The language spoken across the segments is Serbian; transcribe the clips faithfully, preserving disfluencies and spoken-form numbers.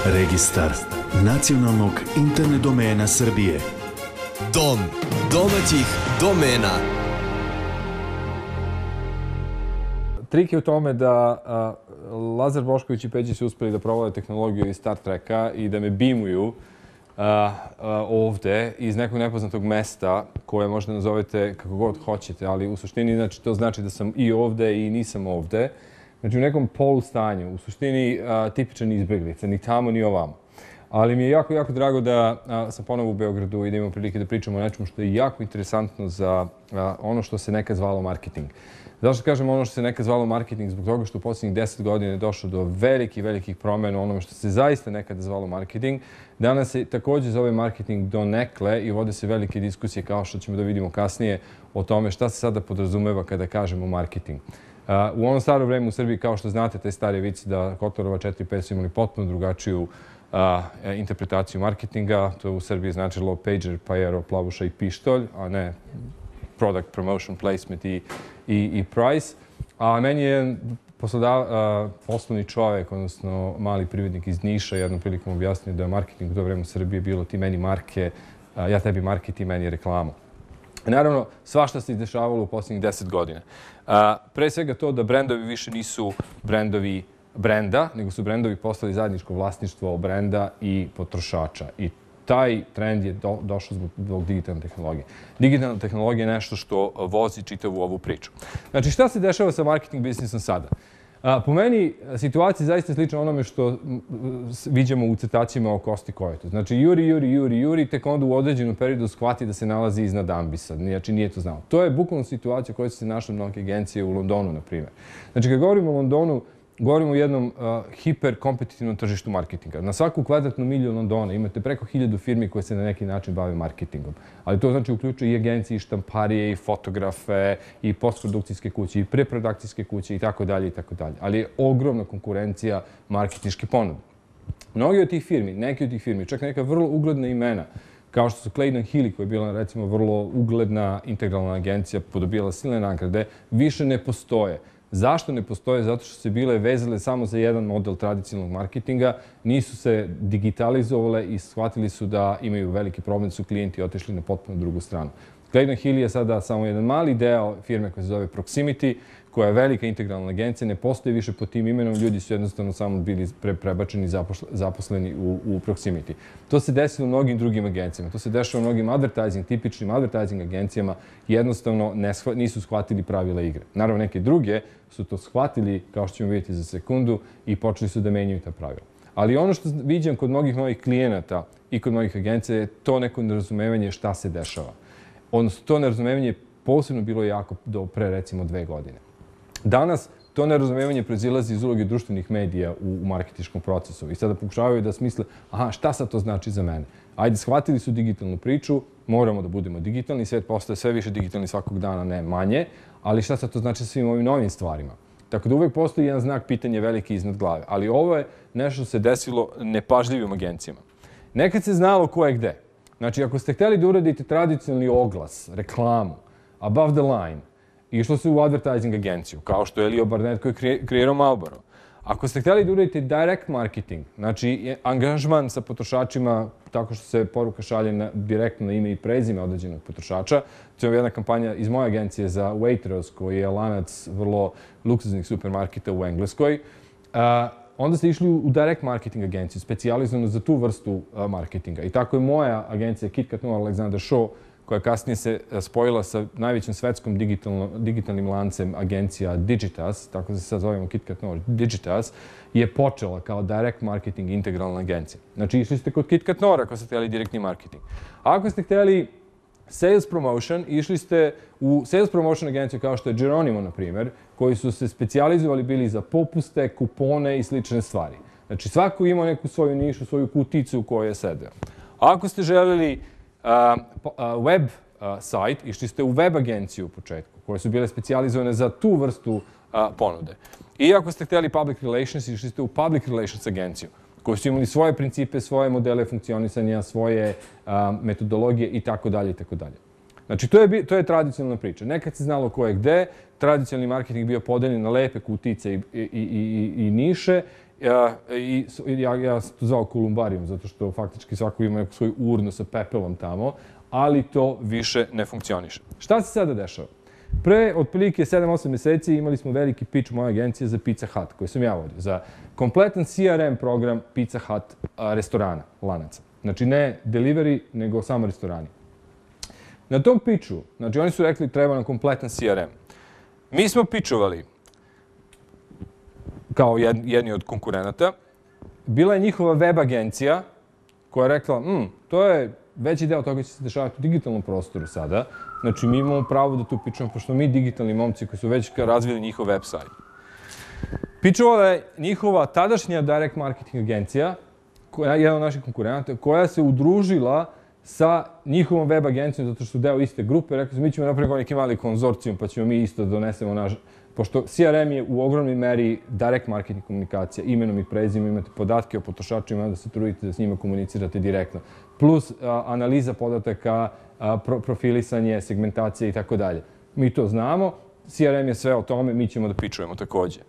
Registar nacionalnog internet domena Srbije. Dom domaćih domena. Trik je u tome da a, Lazar Bošković i Peđi su uspeli da provode tehnologiju iz Star Treka i da me bimuju a, a, ovde iz nekog nepoznatog mesta koje možda nazovete kako god hoćete, ali u suštini znači, to znači da sam i ovde i nisam ovde. Znači u nekom polustanju, u suštini a, tipičan izbeglica, ni tamo ni ovamo. Ali mi je jako, jako drago da a, sam ponovo u Beogradu i da imamo prilike da pričamo o nečemu što je jako interesantno za a, ono što se nekad zvalo marketing. Zašto kažem ono što se nekad zvalo marketing? Zbog toga što u posljednjih deset godina je došlo do velikih, velikih promjena u onome što se zaista nekada zvalo marketing. Danas se također zove marketing donekle i vode se velike diskusije, kao što ćemo da vidimo kasnije, o tome šta se sada podrazumeva kada kažemo marketing. Uh, u onom staro vreme u Srbiji, kao što znate, taj stari vic da Kotorova četiri pet su imali potpuno drugačiju uh, interpretaciju marketinga. To je u Srbiji značilo pager, pajero, plavuša i pištolj, a ne product promotion, placement i, i, i price. A meni je poslodav, uh, poslovni čovjek, odnosno mali privrednik iz Niša, jednom prilikom objasnio da je marketing u to vreme u Srbiji bilo ti meni marke, uh, ja tebi market, ti meni reklamu. Naravno, svašta se izdešavalo u posljednjih deset godina. A, pre svega to da brendovi više nisu brendovi brenda, nego su brendovi postali zajedničko vlasništvo brenda i potrošača. I taj trend je do, došao zbog, zbog digitalne tehnologije. Digitalna tehnologija je nešto što vozi čitavu ovu priču. Znači, šta se dešava sa marketing biznisom sada? A, po meni, situacija je zaista slična onome što viđamo u crtačima o Kosti Kojetu. Znači, juri, juri, juri, juri, tek onda u određenom periodu shvati da se nalazi iznad ambisa. Znači, nije to znao. To je bukvalno situacija koja se našla mnoge agencije u Londonu, na primjer. Znači, kad govorimo o Londonu, govorimo o jednom uh, hiperkompetitivnom tržištu marketinga. Na svaku kvadratnu miliju Londona imate preko hiljadu firmi koje se na neki način bave marketingom. Ali to znači uključuje i agencije, i štamparije, i fotografe, i postprodukcijske kuće, i preprodukcijske kuće, i tako dalje, i tako dalje. Ali je ogromna konkurencija marketinške ponude. Mnogi od tih firmi, neki od tih firmi, čak neka vrlo ugledna imena, kao što su Clayton Healy, koja je bila, recimo, vrlo ugledna integralna agencija, podobijala silne nagrade, više ne postoje. Zašto ne postoje? Zato što se bile vezale samo za jedan model tradicionalnog marketinga, nisu se digitalizovale i shvatili su da imaju veliki problem, da su klijenti otišli na potpuno drugu stranu. Clayton Healy je sada samo jedan mali deo firme koja se zove Proximity, koja je velika integralna agencija, ne postoji više pod tim imenom, ljudi su jednostavno samo bili pre, prebačeni zaposleni u, u Proximity. To se desilo mnogim drugim agencijama, to se dešava mnogim advertising, tipičnim advertising agencijama, jednostavno ne shva, nisu shvatili pravila igre. Naravno, neke druge su to shvatili, kao što ćemo vidjeti za sekundu, i počeli su da menjaju ta pravila. Ali ono što viđam kod mnogih mojih klijenata i kod mnogih agencija je to neko nerazumevanje šta se dešava. Odnosno, to nerazumevanje je posebno bilo jako do pre, recimo, dve godine. Danas to nerazumevanje proizilazi iz uloge društvenih medija u, u marketinškom procesu i sada pokušavaju da smisle, aha, šta sad to znači za mene? Ajde, shvatili su digitalnu priču, moramo da budemo digitalni, svet postaje sve više digitalni svakog dana, ne manje, ali šta sad to znači sa svim ovim novim stvarima? Tako da uvek postoji jedan znak pitanja veliki iznad glave, ali ovo je nešto se desilo nepažljivim agencijama. Nekad se znalo ko je gde. Znači, ako ste hteli da uradite tradicionalni oglas, reklamu, above the line, išlo se u advertising agenciju, kao što je Elio Barnett koji je kreirao Marlboro. Ako ste htjeli da uradite direct marketing, znači angažman sa potrošačima tako što se poruka šalje na, direktno na ime i prezime određenog potrošača, to je jedna kampanja iz moje agencije za Waitrose, koji je lanac vrlo luksuznih supermarketa u Engleskoj, a, onda ste išli u direct marketing agenciju, specijalizovano za tu vrstu a, marketinga. I tako je moja agencija KitKat Noir Alexander Shaw, koja kasnije se spojila sa najvećim svetskom digitalnim lancem agencija Digitas, tako da se sad zovemo KitKat Noir Digitas, je počela kao direct marketing integralna agencija. Znači, išli ste kod KitKat Noir ako ste htjeli direktni marketing. A ako ste htjeli sales promotion, išli ste u sales promotion agenciju kao što je Geronimo, na primjer, koji su se specijalizovali bili za popuste, kupone i slične stvari. Znači, svako ima neku svoju nišu, svoju kuticu u kojoj je sedeo. A ako ste želeli Uh, uh, web uh, sajt, išli ste u web agenciju u početku, koje su bile specijalizovane za tu vrstu uh, ponude. I ako ste htjeli public relations, išli ste u public relations agenciju, koji su imali svoje principe, svoje modele funkcionisanja, svoje uh, metodologije i tako dalje i tako dalje. Znači, to je, to je tradicionalna priča. Nekad se znalo ko je gde, tradicionalni marketing bio podeljen na lepe kutice i, i, i, i, i niše, Ja, i, ja, ja sam to zvao kolumbarijum, zato što faktički svako ima neku svoju urnu sa pepelom tamo, ali to više ne funkcioniše. Šta se sada dešava? Pre, otprilike sedam osam meseci imali smo veliki pitch moje agencije za Pizza Hut, koji sam ja vodio, za kompletan C R M program Pizza Hut a, restorana, lanaca. Znači ne delivery, nego samo restorani. Na tom pitchu, znači oni su rekli treba nam kompletan C R M. Mi smo pitchovali kao jedni od konkurenata. Bila je njihova web agencija koja je rekla, hm, to je veći deo toga će se dešavati u digitalnom prostoru sada. Znači, mi imamo pravo da tu pitchujemo, pošto mi digitalni momci koji su već razvili njihov website. Pitchovala je njihova tadašnja direct marketing agencija, koja je jedna od naših konkurenata, koja se udružila sa njihovom web agencijom, zato što su deo iste grupe. Rekli su, mi ćemo napraviti neki mali konzorcijum, pa ćemo mi isto donesemo naš... Pošto C R M je u ogromnoj meri direct marketing komunikacija, imenom i prezimenom, imate podatke o potrošačima, da se trudite da s njima komunicirate direktno. Plus a, analiza podataka, a, pro, profilisanje, segmentacija i tako dalje. Mi to znamo, C R M je sve o tome, mi ćemo da pitchujemo takođe.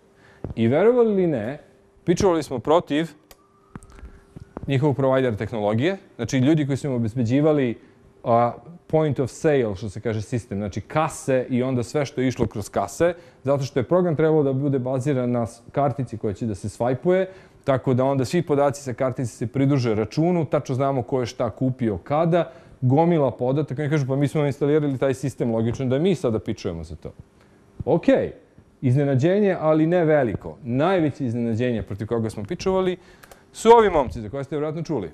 I verovali ili ne, pitchovali smo protiv njihovog provajdera tehnologije, znači ljudi koji su im obezbeđivali a, point of sale, što se kaže sistem, znači kase i onda sve što je išlo kroz kase, zato što je program trebalo da bude baziran na kartici koja će da se svajpuje, tako da onda svi podaci sa kartici se pridruže računu, tačno znamo ko je šta kupio kada, gomila podataka. Oni kažu, pa mi smo instalirali taj sistem, logično da mi sada pitchujemo za to. Ok, iznenađenje, ali ne veliko. Najveće iznenađenje protiv koga smo pitchovali su ovi momci za koje ste vjerojatno čuli.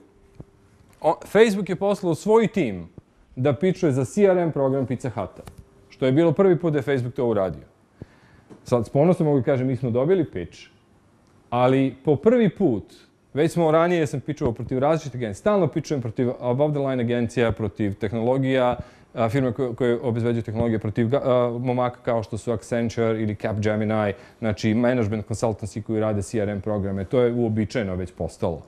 O, Facebook je poslao svoj tim da pitchuje za C R M program Pizza Huta, što je bilo prvi put da je Facebook to uradio. Sad, s ponosom mogu kažem, mi smo dobili pitch, ali po prvi put, već smo ranije, sam pitchovao protiv različitih agencija, stalno pitchujem protiv above the line agencija, protiv tehnologija, firme koje, koje obezbeđuju tehnologije, protiv a, momaka kao što su Accenture ili Capgemini, znači management consultancy koji rade C R M programe, to je uobičajeno već postalo.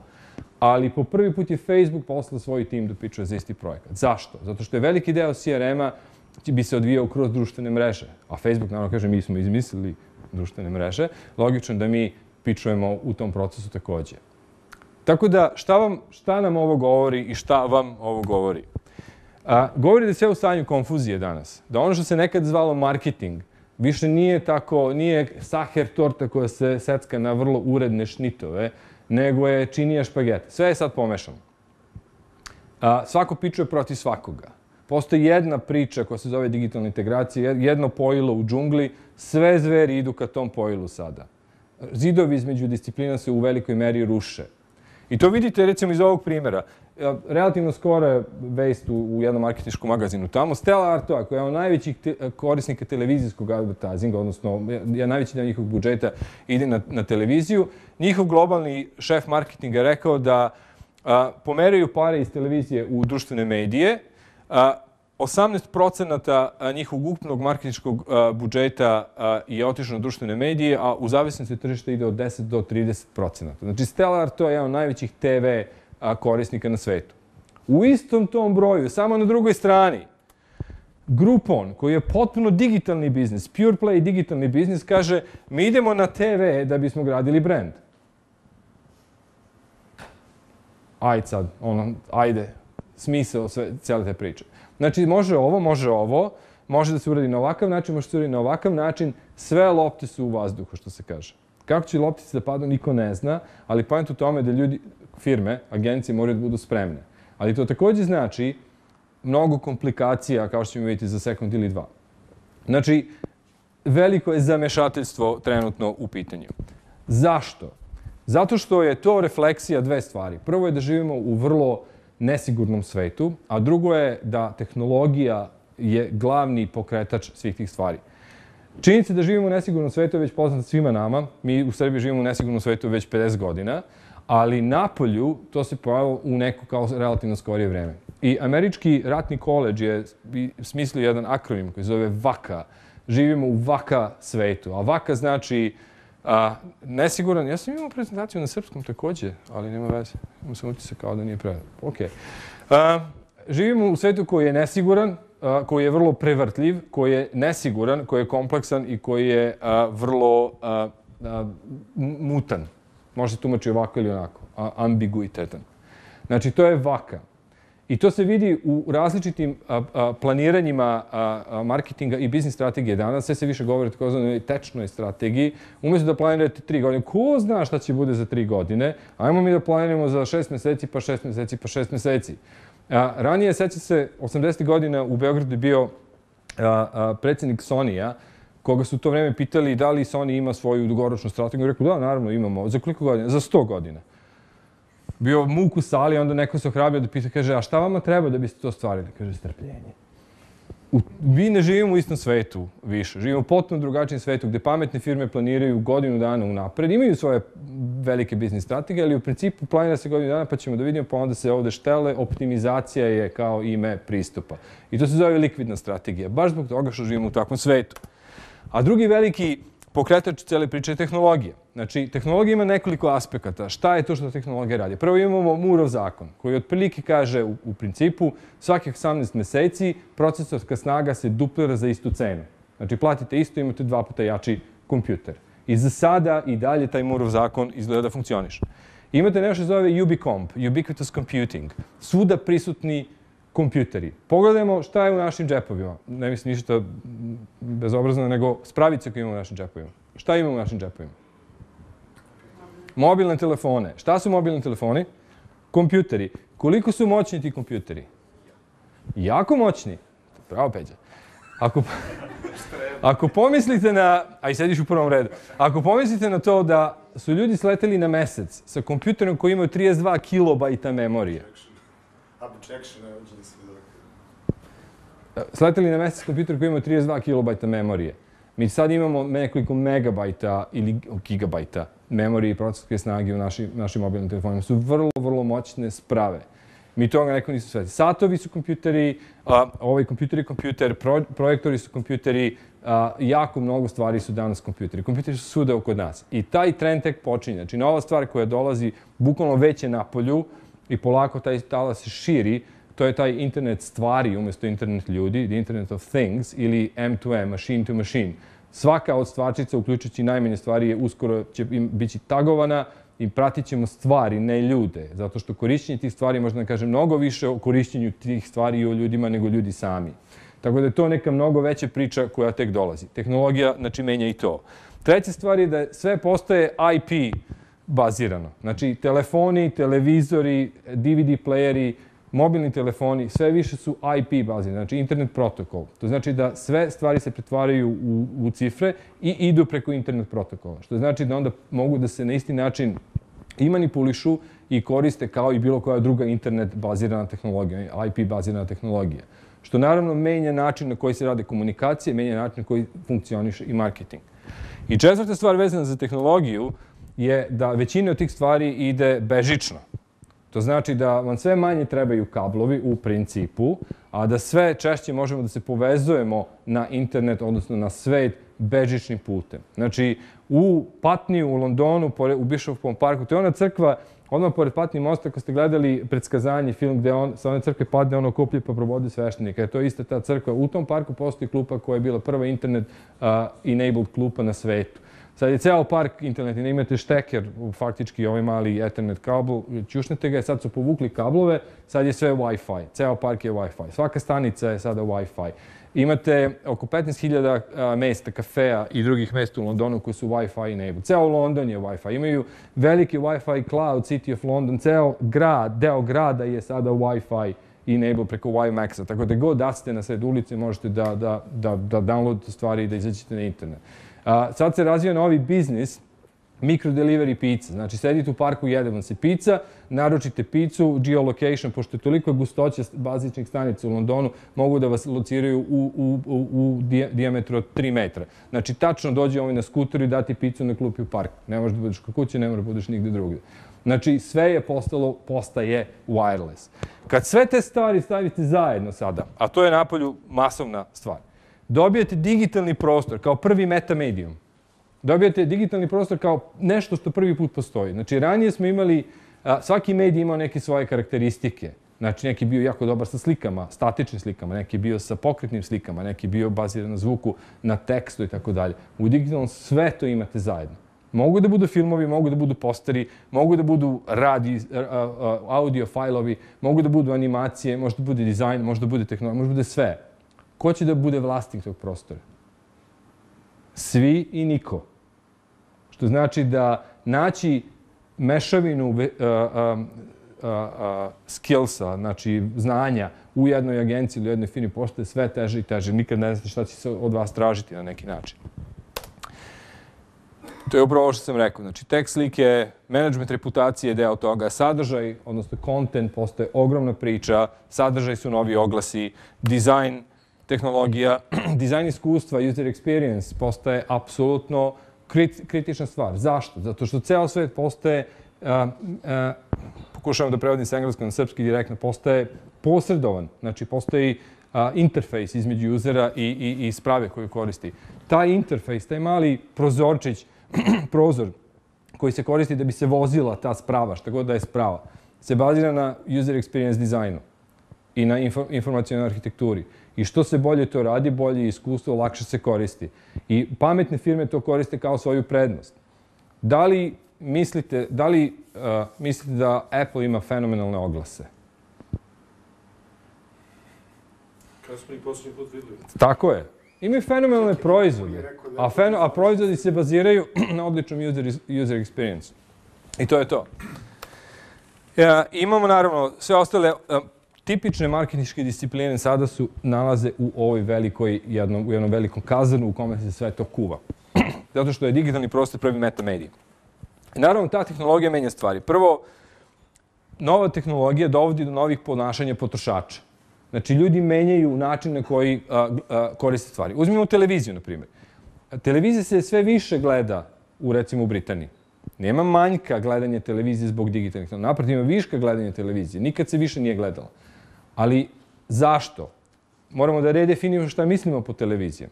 Ali po prvi put je Facebook poslao svoj tim da pitchuje za isti projekat. Zašto? Zato što je veliki deo C R M-a bi se odvijao kroz društvene mreže. A Facebook, naravno, kaže, mi smo izmislili društvene mreže. Logično da mi pitchujemo u tom procesu takođe. Tako da, šta, vam, šta nam ovo govori i šta vam ovo govori? A, govori da je sve u stanju konfuzije danas. Da ono što se nekad zvalo marketing više nije tako, nije saher torta koja se secka na vrlo uredne šnitove, nego je činija špagete. Sve je sad pomešano. A, svako pitchuje protiv svakoga. Postoji jedna priča koja se zove digitalna integracija, jedno pojilo u džungli, sve zveri idu ka tom pojilu sada. Zidovi između disciplina se u velikoj meri ruše. I to vidite recimo iz ovog primjera. Relativno skoro je vest u jednom marketinškom magazinu tamo. Stella Artois, koja je od najvećih korisnika televizijskog advertisinga, odnosno najveći deo njihovog budžeta ide na, na televiziju. Njihov globalni šef marketinga je rekao da a, pomeraju pare iz televizije u društvene medije. A, osamnaest procenata njihovog ukupnog marketinškog budžeta je otišlo na društvene medije, a u zavisnosti od tržišta ide od deset do trideset procenata. Znači, Stella Artois je jedan od najvećih T V korisnika na svetu. U istom tom broju, samo na drugoj strani, Groupon, koji je potpuno digitalni biznis, pure play digitalni biznis, kaže mi idemo na T V da bismo gradili brand. Ajde sad, ono, ajde, smisao sve, cijele te priče. Znači, može ovo, može ovo, može da se uradi na ovakav način, može da se uradi na ovakav način, sve lopte su u vazduhu, što se kaže. Kako će loptice da padnu, niko ne zna, ali point u tome da ljudi, firme, agencije moraju da budu spremne. Ali to takođe znači mnogo komplikacija, kao što ćemo vidjeti za sekund ili dva. Znači, veliko je zamešateljstvo trenutno u pitanju. Zašto? Zato što je to refleksija dve stvari. Prvo je da živimo u vrlo nesigurnom svetu, a drugo je da tehnologija je glavni pokretač svih tih stvari. Činjenica da živimo u nesigurnom svetu je već poznata svima nama. Mi u Srbiji živimo u nesigurnom svetu već pedeset godina, ali napolju to se pojavilo u neko kao relativno skorije vreme. I Američki ratni koledž je smislio jedan akronim koji zove VAKA. Živimo u VAKA svetu. A VAKA znači a, nesiguran. Ja sam imao prezentaciju na srpskom takođe, ali nema veze. Imam sam utisak kao da nije predano. Okay. A, živimo u svetu koji je nesiguran, a, koji je vrlo prevrtljiv, koji je nesiguran, koji je kompleksan i koji je a, vrlo a, a, mutan. Može se tumači ovako ili onako, ambiguitetan. Znači, to je vaka. I to se vidi u različitim planiranjima marketinga i biznis strategije danas. Sve se više govori o takozvanoj tečnoj strategiji. Umjesto da planirate tri godine, ko zna šta će bude za tri godine, ajmo mi da planiramo za šest meseci, pa šest meseci, pa šest meseci. Ranije, seća se, osamdesetih godina u Beogradu je bio predsjednik Sony-a, koga su u to vreme pitali da li Sony ima svoju dugoročnu strategiju. Rekao, da, naravno imamo. Za koliko godina? Za sto godina. Bio muk u sali, onda neko se ohrabio da pita, kaže, a šta vama treba da biste to stvarili? Kaže, strpljenje. Mi ne živimo u istom svetu više. Živimo u potpuno drugačijem svetu gde pametne firme planiraju godinu dana unapred. Imaju svoje velike biznis strategije, ali u principu planira se godinu dana, pa ćemo da vidimo, pa onda se ovde štele. Optimizacija je kao ime pristupa. I to se zove likvidna strategija, baš zbog toga što živimo u takvom svetu. A drugi veliki pokretač cele priče je tehnologija. Znači, tehnologija ima nekoliko aspekata. Šta je to što tehnologija radi? Prvo imamo Mooreov zakon, koji otprilike kaže u, u principu svakih osamnaest meseci procesorska snaga se duplira za istu cenu. Znači, platite isto, imate dva puta jači kompjuter. I za sada i dalje taj Mooreov zakon izgleda da funkcioniše. Imate nešto zove Ubicomp, Ubiquitous Computing, svuda prisutni kompjuteri. Pogledajmo šta je u našim džepovima. Ne mislim ništa bezobrazno, nego spravice koje imamo u našim džepovima. Šta imamo u našim džepovima? Mobilne telefone. Šta su mobilni telefoni? Kompjuteri. Koliko su moćni ti kompjuteri? Jako moćni. Bravo, Peđa. Ako, ako pomislite na... A i sediš u prvom redu. Ako pomislite na to da su ljudi sleteli na mesec sa kompjuterom koji imaju trideset dva kilobajta memorije. Sleteli na mesec kompjuter koji imaju trideset dva kilobajta memorije. Mi sad imamo nekoliko megabajta ili gigabajta memorije i procesorske snage u našim, našim mobilnim telefonima. Su vrlo, vrlo moćne sprave. Mi toga neko nisu sveti. Satovi su kompjuteri, a, ovaj kompjuter je kompjuter, pro, projektori su kompjuteri, a, jako mnogo stvari su danas kompjuteri. Kompjuteri su svuda oko nas. I taj trend tek počinje. Znači, nova stvar koja dolazi bukvalno već je na polju i polako taj talas se širi. To je taj internet stvari umjesto internet ljudi, the internet of things, ili M to M, machine to machine. Svaka od stvarčica, uključujući najmanje stvari, je uskoro će biti tagovana i pratit ćemo stvari, ne ljude. Zato što korišćenje tih stvari, možda da kažem, mnogo više o korišćenju tih stvari i o ljudima nego ljudi sami. Tako da je to neka mnogo veća priča koja tek dolazi. Tehnologija, znači, menja i to. Treća stvar je da sve postaje I P bazirano. Znači, telefoni, televizori, D V D playeri, mobilni telefoni, sve više su I P bazirani, znači internet protokol. To znači da sve stvari se pretvaraju u, u cifre i idu preko internet protokola. Što znači da onda mogu da se na isti način i manipulišu i koriste kao i bilo koja druga internet bazirana tehnologija, I P bazirana tehnologija. Što naravno menja način na koji se rade komunikacije, menja način na koji funkcioniše i marketing. I četvrta stvar vezana za tehnologiju je da većina od tih stvari ide bežično. To znači da vam sve manje trebaju kablovi u principu, a da sve češće možemo da se povezujemo na internet, odnosno na svet, bežičnim putem. Znači, u Patniju, u Londonu, u Bishopskom parku, to je ona crkva, odmah pored Patnije mosta, ako ste gledali Predskazanje, film gde on, sa one crkve padne ono koplje pa probodi sveštenika. To je ista ta crkva. U tom parku postoji klupa koja je bila prva internet-enabled klupa na svetu. Sad je ceo park internet, ne imate šteker, faktički ovaj mali Ethernet kabel, ćušnete ga, sad su povukli kablove, sad je sve Wi-Fi, ceo park je Wi-Fi, svaka stanica je sada Wi-Fi. Imate oko petnaest hiljada mesta, kafeja i drugih mesta u Londonu koji su Wi-Fi enabled. Ceo London je Wi-Fi, imaju veliki Wi-Fi cloud, City of London, ceo grad, deo grada je sada Wi-Fi enabled preko WiMaxa, tako da god da ste na sred ulice možete da, da, da, da downloadite stvari i da izađete na internet. A, sad se razvija novi biznis, micro-delivery pizza. Znači, sedite u parku, jede vam se pizza, naručite pizzu, geolocation, pošto je toliko gustoća bazičnih stanica u Londonu, mogu da vas lociraju u, u, u, u dijametru od tri metra. Znači, tačno dođe ovaj na skuteru i dati pizzu na klupi u parku. Ne možeš da budeš kod kuće, ne možeš da budeš nigde drugdje. Znači, sve je postalo, postaje wireless. Kad sve te stvari stavite zajedno sada, a to je napolju masovna stvar, dobijete digitalni prostor kao prvi metamedijum. Dobijete digitalni prostor kao nešto što prvi put postoji. Znači, ranije smo imali, svaki medij imao neke svoje karakteristike. Znači, neki je bio jako dobar sa slikama, statičnim slikama, neki je bio sa pokretnim slikama, neki je bio baziran na zvuku, na tekstu i tako dalje. U digitalnom sve to imate zajedno. Mogu da budu filmovi, mogu da budu posteri, mogu da budu radi, audio fajlovi, mogu da budu animacije, može da bude dizajn, može da bude tehnologija, može da bude sve. Ko će da bude vlasnik tog prostora? Svi i niko. Što znači da naći mešavinu skillsa, znači znanja u jednoj agenciji ili u jednoj firmi postaje sve teže i teže. Nikad ne znate šta će se od vas tražiti na neki način. To je upravo ovo što sam rekao. Znači, tekst, slike, management reputacije je deo toga, sadržaj, odnosno content, postaje ogromna priča, sadržaj su novi oglasi, dizajn, tehnologija, dizajn iskustva, user experience postaje apsolutno kritična stvar. Zašto? Zato što ceo svet postaje, pokušavam da prevodim sa engleskog na srpski direktno, postaje posredovan. Znači, postoji interfejs između usera i sprave koju koristi. Taj interfejs, taj mali prozorčić, prozor koji se koristi da bi se vozila ta sprava, šta god da je sprava, se bazira na user experience dizajnu i na informacionalnoj arhitekturi. I što se bolje to radi, bolje iskustvo, lakše se koristi. I pametne firme to koriste kao svoju prednost. Da li mislite, da li, uh, mislite da Apple ima fenomenalne oglase? Kada smo ih posljednji put videli? Tako je. Imaju fenomenalne proizvode, a, feno, a proizvodi se baziraju na odličnom user, user experience. I to je to. Ja, imamo naravno sve ostale uh, tipične marketinške discipline sada su nalaze u ovoj velikoj, jednom, u jednom velikom kazanu u kome se sve to kuva. Zato što je digitalni prostor prvi metamedij. I naravno, ta tehnologija menja stvari. Prvo, nova tehnologija dovodi do novih ponašanja potrošača. Znači, ljudi menjaju način na koji a, a, koriste stvari. Uzmimo televiziju, na primjer. Televizija se sve više gleda, u, recimo, u Britaniji. Nema manjka gledanja televizije zbog digitalnih tehnologija. Naprotiv, ima viška gledanja televizije. Nikad se više nije gledala. Ali zašto? Moramo da redefinimo šta mislimo po televiziji.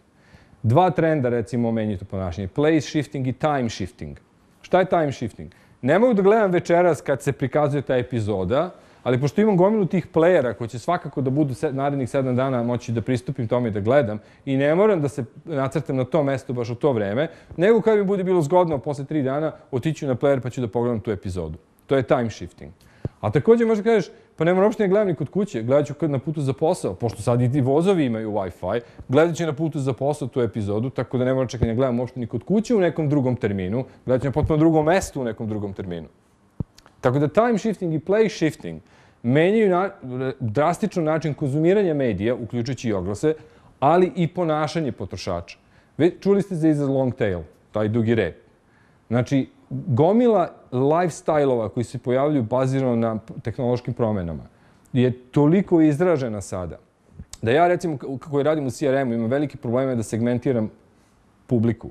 Dva trenda, recimo, menjaju to ponašanje. Place shifting i time shifting. Šta je time shifting? Ne mogu da gledam večeras kad se prikazuje ta epizoda, ali pošto imam gomilu tih playera koji će svakako da budu narednih sedam dana moći da pristupim tome i da gledam i ne moram da se nacrtam na to mesto baš u to vreme, nego kad mi bude bilo zgodno posle tri dana otiću na player pa ću da pogledam tu epizodu. To je time shifting. A također možda kažeš, pa ne moram uopšte ne gledam ni kod kuće, gledat ću na putu za posao, pošto sad i ti vozovi imaju Wi-Fi, gledat ću na putu za posao tu epizodu, tako da ne moram čekati ne gledam uopšte ni kod kuće u nekom drugom terminu, gledat ću na potpuno drugom mestu u nekom drugom terminu. Tako da time shifting i place shifting menjaju na, drastično način konzumiranja medija, uključujući i oglase, ali i ponašanje potrošača. Ve, čuli ste za iza long tail, taj dugi rep. Znači, gomila lifestyle-ova koji se pojavljuju bazirano na tehnološkim promenama je toliko izražena sada da ja, recimo, koji radim u C R M-u, imam velike probleme da segmentiram publiku.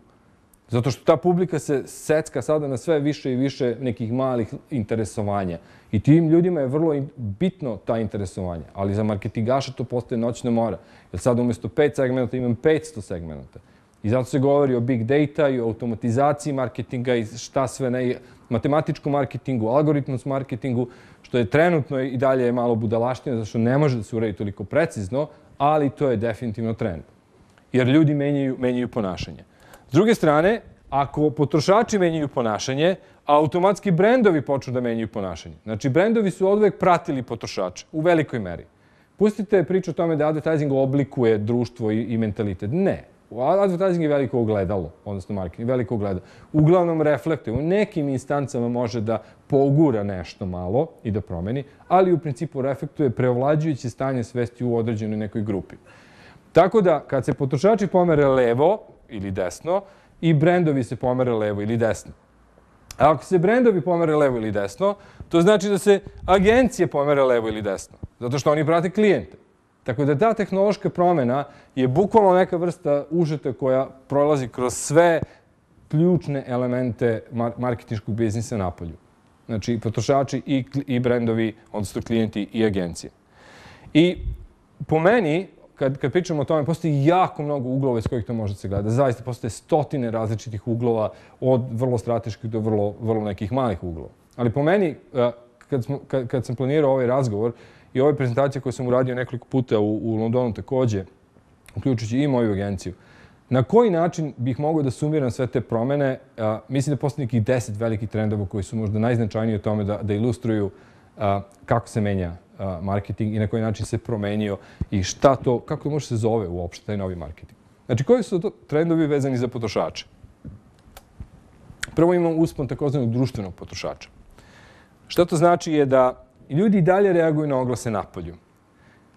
Zato što ta publika se secka sada na sve više i više nekih malih interesovanja. I tim ljudima je vrlo bitno ta interesovanja. Ali za marketingaša to postaje noćna mora. Jer sad umjesto pet segmenta imam petsto segmenta. I zato se govori o big data i o automatizaciji marketinga i šta sve ne, matematičkom marketingu, algoritmskom marketingu, što je trenutno i dalje malo budalaštine, zato što ne može da se uredi toliko precizno, ali to je definitivno trend. Jer ljudi menjaju, menjaju ponašanje. S druge strane, ako potrošači menjaju ponašanje, automatski brendovi počnu da menjaju ponašanje. Znači, brendovi su oduvek pratili potrošače u velikoj meri. Pustite priču o tome da advertising oblikuje društvo i, i mentalitet. Ne. Advertising je veliko ogledalo, odnosno marketing, veliko ogledalo. Uglavnom reflektuje. U nekim instancama može da pogura nešto malo i da promeni, ali u principu reflektuje preovlađujuće stanje svesti u određenoj nekoj grupi. Tako da, kad se potrošači pomere levo ili desno, i brendovi se pomere levo ili desno. A ako se brendovi pomere levo ili desno, to znači da se agencije pomere levo ili desno. Zato što oni prate klijente. Tako da ta tehnološka promjena je bukvalno neka vrsta užeta koja prolazi kroz sve ključne elemente marketinškog biznisa napolju. Znači, potrošači i, i brendovi, odnosno klijenti i agencije. I po meni, kad, kad pričamo o tome, postoji jako mnogo uglova iz kojih to može se gledati. Zaista postoje stotine različitih uglova, od vrlo strateških do vrlo, vrlo nekih malih uglova. Ali po meni, kad, smo, kad, kad sam planirao ovaj razgovor i ove prezentacije koje sam uradio nekoliko puta u, u Londonu također, uključujući i moju agenciju, Na koji način bih mogao da sumiram sve te promene? A, mislim da postoji nekih deset velikih trendova koji su možda najznačajniji u tome da, da ilustruju a, kako se menja a, marketing i na koji način se promenio i šta to, kako to može se zove uopšte taj novi marketing. Znači, koji su to trendovi vezani za potrošače? Prvo imamo uspon takozvanog društvenog potrošača. Šta to znači je da ljudi i dalje reaguju na oglase napolju.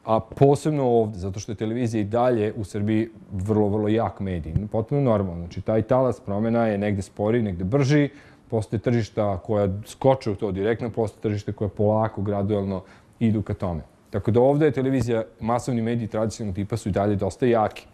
A posebno ovdje, zato što je televizija i dalje u Srbiji vrlo, vrlo jak medij. Potpuno normalno. Znači, taj talas promjena je negde sporiji, negde brži. Postoje tržišta koja skoče u to direktno, postoje tržište koje polako, gradualno idu ka tome. Tako da ovdje je televizija, masovni mediji tradicionalnog tipa su i dalje dosta jaki.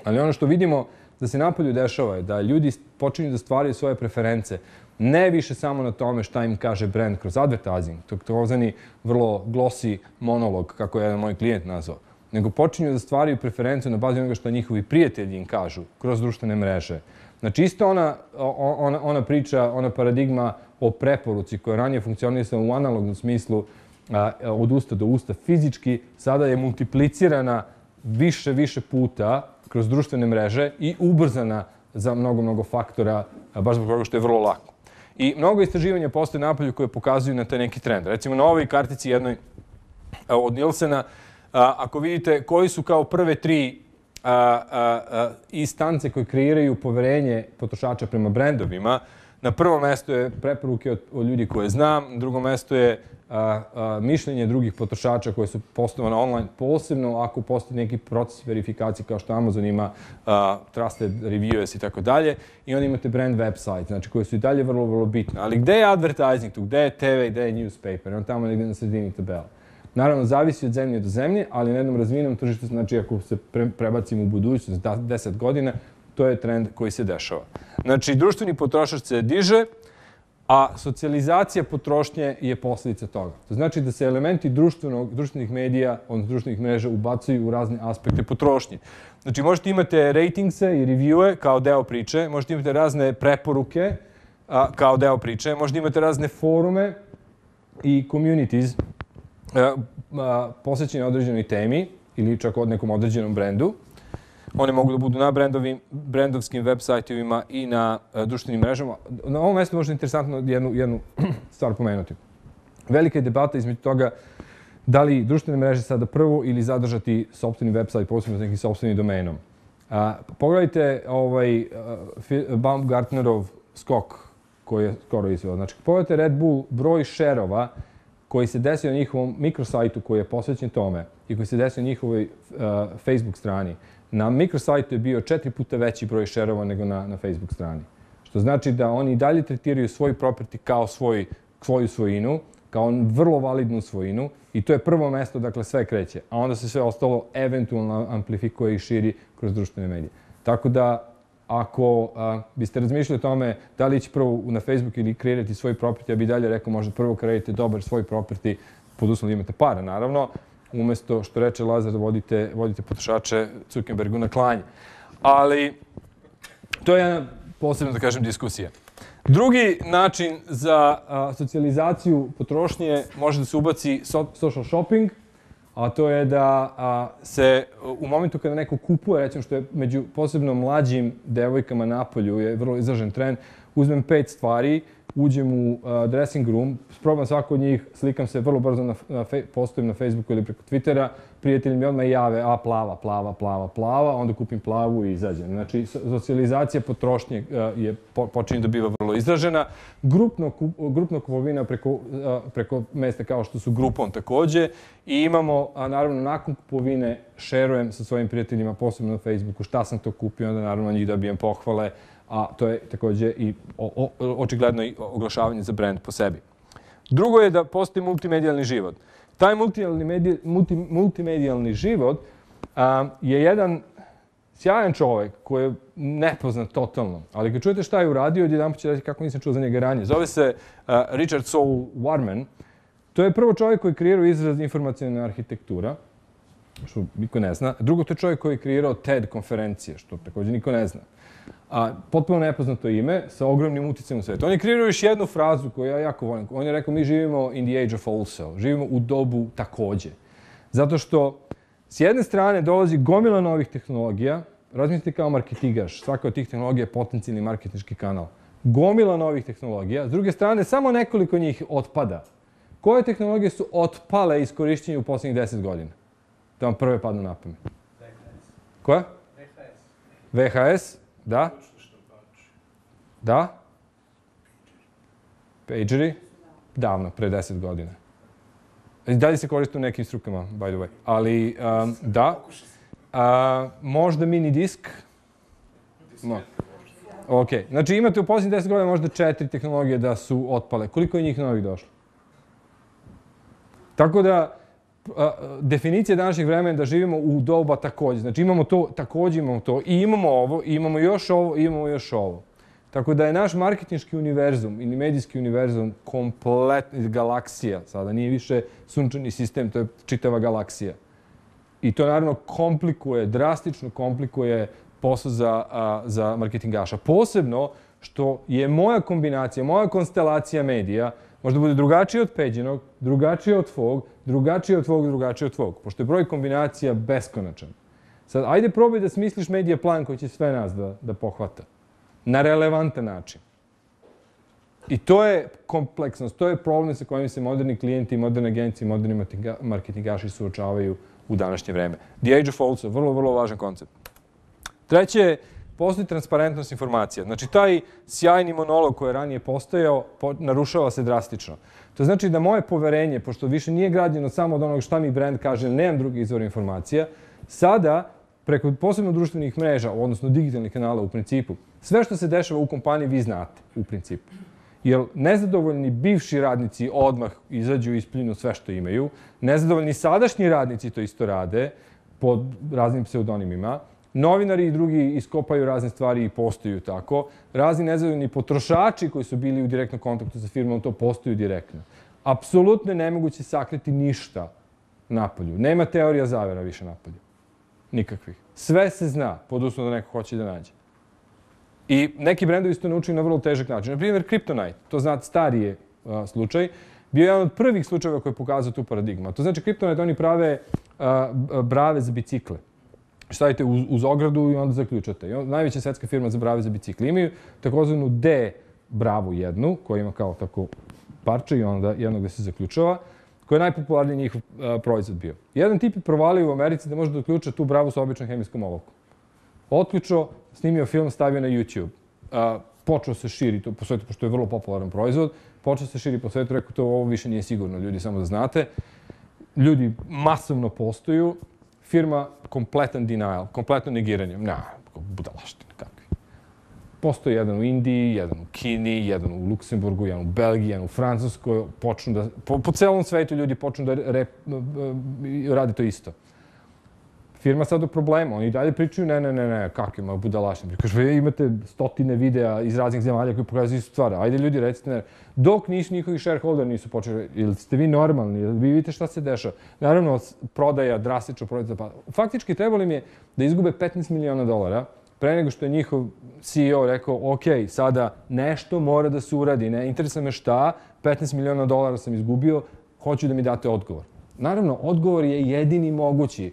Ali ono što vidimo da se napolju dešava je da ljudi počinju da stvaraju svoje preference, ne više samo na tome šta im kaže brand kroz advertising, to je vrlo glossy monolog, kako je jedan moj klijent nazvao, nego počinju da stvaraju preferencu na bazi onoga što njihovi prijatelji im kažu kroz društvene mreže. Znači, isto ona, ona, ona priča, ona paradigma o preporuci koja je ranije funkcionisala u analognom smislu a, od usta do usta fizički, sada je multiplicirana više, više puta kroz društvene mreže i ubrzana za mnogo, mnogo faktora, baš zbog toga što je vrlo lako. I mnogo istraživanja postoje napolju koje pokazuju na taj neki trend. Recimo na ovoj kartici jednoj od Nielsena, ako vidite koji su kao prve tri instance koje kreiraju poverenje potrošača prema brendovima, na prvom mestu je preporuke od, od ljudi koje znam, na drugom mestu je a, a, mišljenje drugih potrošača koje su postavljene online, posebno ako postoji neki proces verifikacije kao što Amazon ima a, trusted reviews i tako dalje. I onda imate brand website, znači koje su i dalje vrlo, vrlo bitne. Ali gde je advertising tu? Gde je te ve, gde je newspaper? On tamo negdje na sredini tabela. Naravno, zavisi od zemlje do zemlje, ali na jednom razvijenom tržištu, znači ako se pre, prebacimo u budućnost, deset godina, to je trend koji se dešava. Znači, društveni potrošač se diže, a socijalizacija potrošnje je posljedica toga. To znači da se elementi društvenog, društvenih medija, odnosno društvenih mreža, ubacuju u razne aspekte potrošnje. Znači, možete imate ratingse i reviewe kao deo priče, možete imate razne preporuke a, kao deo priče, možete imate razne forume i communities a, a, posvećene određenoj temi ili čak od nekom određenom brendu. One mogu da budu na brendovim, brendovskim web sajtovima i na uh, društvenim mrežama. Na ovom mjestu možda je interesantno jednu, jednu stvar pomenuti. Velika je debata između toga da li društvene mreže sada prvo ili zadržati sopstveni web sajt, posebno s nekim sopstvenim domenom. Uh, pogledajte ovaj uh, Baumgartnerov skok koji je skoro izveo. Znači, pogledajte Red Bull broj šerova koji se desio na njihovom mikrosajtu koji je posvećen tome i koji se desio na njihovoj uh, Facebook strani. Na mikrosajtu je bio četiri puta veći broj šerova nego na, na Facebook strani. Što znači da oni i dalje tretiraju svoj property kao svoj, svoju svojinu, kao vrlo validnu svojinu i to je prvo mesto, dakle sve kreće. A onda se sve ostalo eventualno amplifikuje i širi kroz društvene medije. Tako da, ako a, biste razmišljali o tome da li ići prvo na Facebook ili kreirati svoj property, ja bih dalje rekao možda prvo kreirati dobar svoj property, pod uslovom da imate para, naravno, umjesto što reče Lazar da vodite, vodite potrošače Zuckerbergu na klanje. Ali to je jedna posebna, da kažem, diskusija. Drugi način za a, socijalizaciju potrošnje može da se ubaci so, social shopping, a to je da a, se u momentu kada neko kupuje, recimo što je među posebno mlađim devojkama napolju je vrlo izražen trend, uzmem pet stvari, uđem u uh, dressing room, probam svako od njih, slikam se vrlo brzo, na, na fe, postavim na Facebooku ili preko Twittera, prijatelji mi odmah jave, a plava, plava, plava, plava, onda kupim plavu i izađem. Znači, socijalizacija potrošnje uh, je po, počinje da biva vrlo izražena. Grupno, grupno kupovina preko, uh, preko mesta kao što su Groupon također. I imamo, a naravno, nakon kupovine šerujem sa svojim prijateljima, posebno na Facebooku, šta sam to kupio, onda naravno njih dobijem pohvale, a to je također i o, o, očigledno i oglašavanje za brand po sebi. Drugo je da postoji multimedijalni život. Taj multimedijalni, multi, multimedijalni život a, je jedan sjajan čovjek koji je nepoznat totalno, ali kad čujete šta je uradio, odjedanput će reći kako nisam čuo za njega ranije. Zove se a, Richard Saul Warman. To je prvo čovjek koji je kreirao izraz informacijalna arhitektura, što niko ne zna. Drugo, to je čovjek koji je kreirao TED konferencije, što također niko ne zna. A, potpuno nepoznato ime sa ogromnim uticajem u svijetu. On je kreirao još jednu frazu koju ja jako volim. On je rekao, mi živimo in the age of also. Živimo u dobu također. Zato što s jedne strane dolazi gomila novih tehnologija, razmislite kao marketigaš. Svaka od tih tehnologija je potencijalni marketinški kanal. Gomila novih tehnologija. S druge strane, samo nekoliko njih otpada. Koje tehnologije su otpale iz korišćenja u posljednjih deset godina? Da vam prve padnu na pamet. V H S. Koja? V H S. V H S, da. Da. Pageri, davno, pre deset godina. Dalje se koriste u nekim strukama, by the way. Ali, um, da. A, možda mini disk. No. Ok, znači imate u posljednjih deset godina možda četiri tehnologije da su otpale. Koliko je njih novih došlo? Tako da, a, definicija današnjeg vremena je da živimo u doba takođe. Znači imamo to, takođe imamo to, i imamo ovo, i imamo još ovo, i imamo još ovo. Tako da je naš marketinški univerzum ili medijski univerzum kompletna galaksija. Sada nije više sunčani sistem, to je čitava galaksija. I to naravno komplikuje, drastično komplikuje posao za, a, za marketingaša. Posebno što je moja kombinacija, moja konstelacija medija možda bude drugačija od Peđinog, drugačija od tvog, drugačija od tvog, drugačija od tvog. Pošto je broj kombinacija beskonačan. Sad, ajde probaj da smisliš medija plan koji će sve nas da, da pohvata. Na relevantan način. I to je kompleksnost, to je problem sa kojim se moderni klijenti, moderne agencije, moderni marketingaši suočavaju u današnje vreme. The Age of Also, vrlo, vrlo važan koncept. Treće, postoji transparentnost informacija. Znači, taj sjajni monolog koji je ranije postojao, narušava se drastično. To znači da moje poverenje, pošto više nije građeno samo od onog šta mi brand kaže, nemam drugi izvor informacija, sada, preko posebno društvenih mreža, odnosno digitalnih kanala u principu, sve što se dešava u kompaniji vi znate, u principu. Jer nezadovoljni bivši radnici odmah izađu i ispljunu sve što imaju. Nezadovoljni sadašnji radnici to isto rade pod raznim pseudonimima. Novinari i drugi iskopaju razne stvari i postaju tako. Razni nezadovoljni potrošači koji su bili u direktnom kontaktu sa firmom to postaju direktno. Apsolutno je nemoguće sakriti ništa napolju. Nema teorija zavera više napolju. Nikakvih. Sve se zna, pod uslovom da neko hoće da nađe. I neki brendovi su to naučili na vrlo težak način. Na primjer, Kryptonite, to znate, stariji uh, slučaj, bio je jedan od prvih slučajeva koji je pokazao tu paradigmu. To znači, Kryptonite, oni prave uh, brave za bicikle. Stavite uz, uz ogradu i onda zaključate. I on, najveća svetska firma za brave za bicikle. Imaju takozvanu D bravu jednu, koja ima kao tako parče i onda jedno gde se zaključava, koja je najpopularniji njihov uh, proizvod bio. Jedan tip je provalio u Americi da može da uključa tu bravu sa običnom hemijskom olovkom. Otključao, snimio film, stavio na YouTube. Uh, počeo se širi to po svetu, pošto je vrlo popularan proizvod. Počeo se širi po svetu, rekao to ovo više nije sigurno, ljudi, samo da znate. Ljudi masovno postoju. Firma kompletan denial, kompletno negiranje. Na, budalaštine, kakvi. Postoji jedan u Indiji, jedan u Kini, jedan u Luksemburgu, jedan u Belgiji, jedan u Francuskoj. Počnu da, po, po celom svetu ljudi počnu da rep, rade to isto. Firma sad u problemu. Oni dalje pričaju, ne, ne, ne, ne, kakvi ima budalaštine. Kaže, vi imate stotine videa iz raznih zemalja koji pokazuju istu stvar. Ajde ljudi, recite, ne. Dok nisu njihovi shareholder nisu počeli, ili ste vi normalni, ili vi vidite šta se dešava. Naravno, prodaja, drastično prodaja. Pa, faktički trebalo im je da izgube petnaest miliona dolara pre nego što je njihov C E O rekao, ok, sada nešto mora da se uradi, ne interesuje me šta, petnaest miliona dolara sam izgubio, hoću da mi date odgovor. Naravno, odgovor je jedini mogući.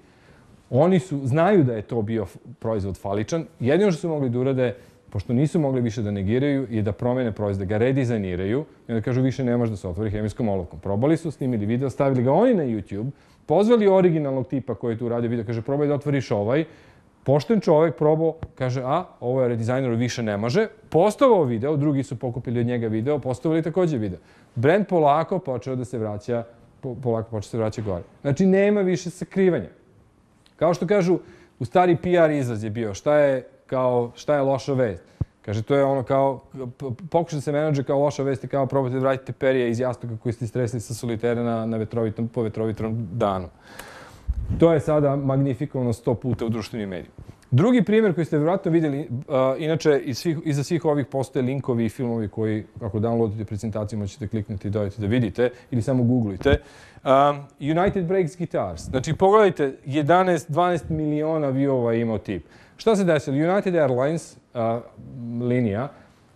Oni su, znaju da je to bio proizvod faličan. Jedino što su mogli da urade, pošto nisu mogli više da negiraju, je da promene proizvod, da ga redizajniraju i da kažu više ne može da se otvori hemijskom olovkom. Probali su, snimili video, stavili ga oni na YouTube, pozvali originalnog tipa koji je tu radio video, kaže probaj da otvoriš ovaj. Pošten čovek probao, kaže a, ovo je redizajner, više ne može. Postavao video, drugi su pokupili od njega video, postavili takođe video. Brand polako počeo da se vraća, polako počeo da se vraća gore. Znači nema više sakrivanja. Kao što kažu, u stari P R izraz je bio, šta je, kao, šta je loša vest? Kaže, to je ono kao, pokušaj da se menadže kao loša vest i kao probajte da vratite perije iz jastuka koji ste stresli sa solitera na, na vetrovitom, po vetrovitom danu. To je sada magnifikovano sto puta u društvenim medijima. Drugi primjer koji ste vjerojatno vidjeli, uh, inače iz svih, iza svih ovih postoje linkovi i filmovi koji, ako downloadite prezentaciju, možete kliknuti i dodajte da vidite ili samo googlujte. Um, United Breaks Guitars. Znači, pogledajte, jedanaest do dvanaest miliona viewova imao tip. Šta se desilo? United Airlines uh, linija,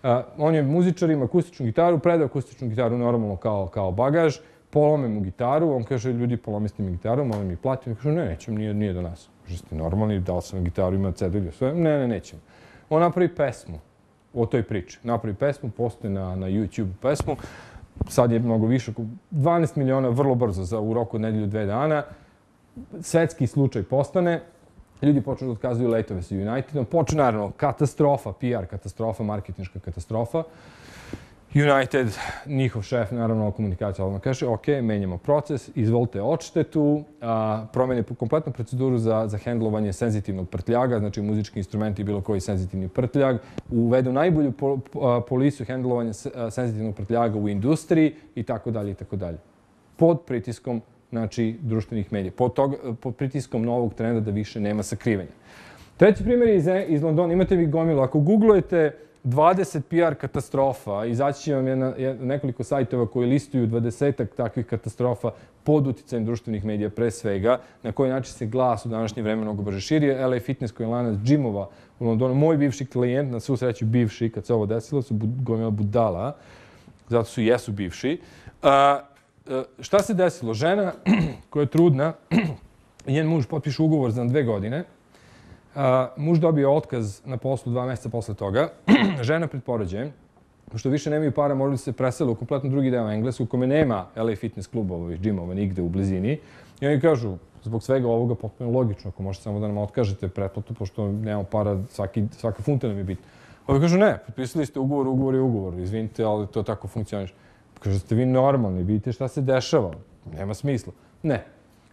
uh, on je muzičar, ima akustičnu gitaru, predao akustičnu gitaru normalno kao, kao bagaž, polome mu gitaru, on kaže, ljudi, polomiste mi gitaru, molim mi platiti. On kaže, ne, nećemo, nije, nije do nas. Kaže, ste normalni, dao sam gitaru, ima cedulju, sve. Ne, ne, nećemo. On napravi pesmu o toj priči. Napravi pesmu, postoje na, na YouTube pesmu. Sad je mnogo više, dvanaest miliona vrlo brzo, za u roku od nedelju, dve dana. Svetski slučaj postane. Ljudi počnu da otkazuju letove sa Unitedom. Počne, naravno, katastrofa, P R katastrofa, marketinška katastrofa. United, njihov šef, naravno, komunikacija odmah kaže, ok, menjamo proces, izvolite odštetu, promeni kompletnu proceduru za, za hendlovanje senzitivnog prtljaga, znači muzički instrumenti i bilo koji senzitivni prtljag, uvedu najbolju po, po, polisu hendlovanja senzitivnog prtljaga u industriji i tako dalje i tako dalje. Pod pritiskom, znači, društvenih medija, pod, toga, pod pritiskom novog trenda da više nema sakrivanja. Treći primjer je iz, iz Londona. Imate vi gomilu. Ako googlujete dvadeset P R katastrofa, izaći će vam jedna, jedna, nekoliko sajtova koji listuju dvadesetak takvih katastrofa pod uticajem društvenih medija pre svega, na koji način se glas u današnje vreme mnogo brže širi. L A Fitness koji je lanac džimova u Londonu. Moj bivši klijent, na svu sreću bivši, kad se ovo desilo, su gomila budala, zato su jesu bivši. A, šta se desilo? Žena koja je trudna, njen muž potpiše ugovor za dve godine. Uh, muž dobio otkaz na poslu dva mjeseca posle toga. Žena pred porođajem, pošto više nemaju para, morali se presele u kompletno drugi deo Englesku, u kome nema L A Fitness klubova, ovih džimova, nigde u blizini. I oni kažu, zbog svega ovoga potpuno logično, ako možete samo da nam otkažete pretplatu, pošto nemamo para, svaki, svaka funta nam je bitna. Ovi kažu, ne, potpisali ste ugovor, ugovor je ugovor, izvinite, ali to tako funkcioniš. Kažu, ste vi normalni, vidite šta se dešava, nema smisla. Ne.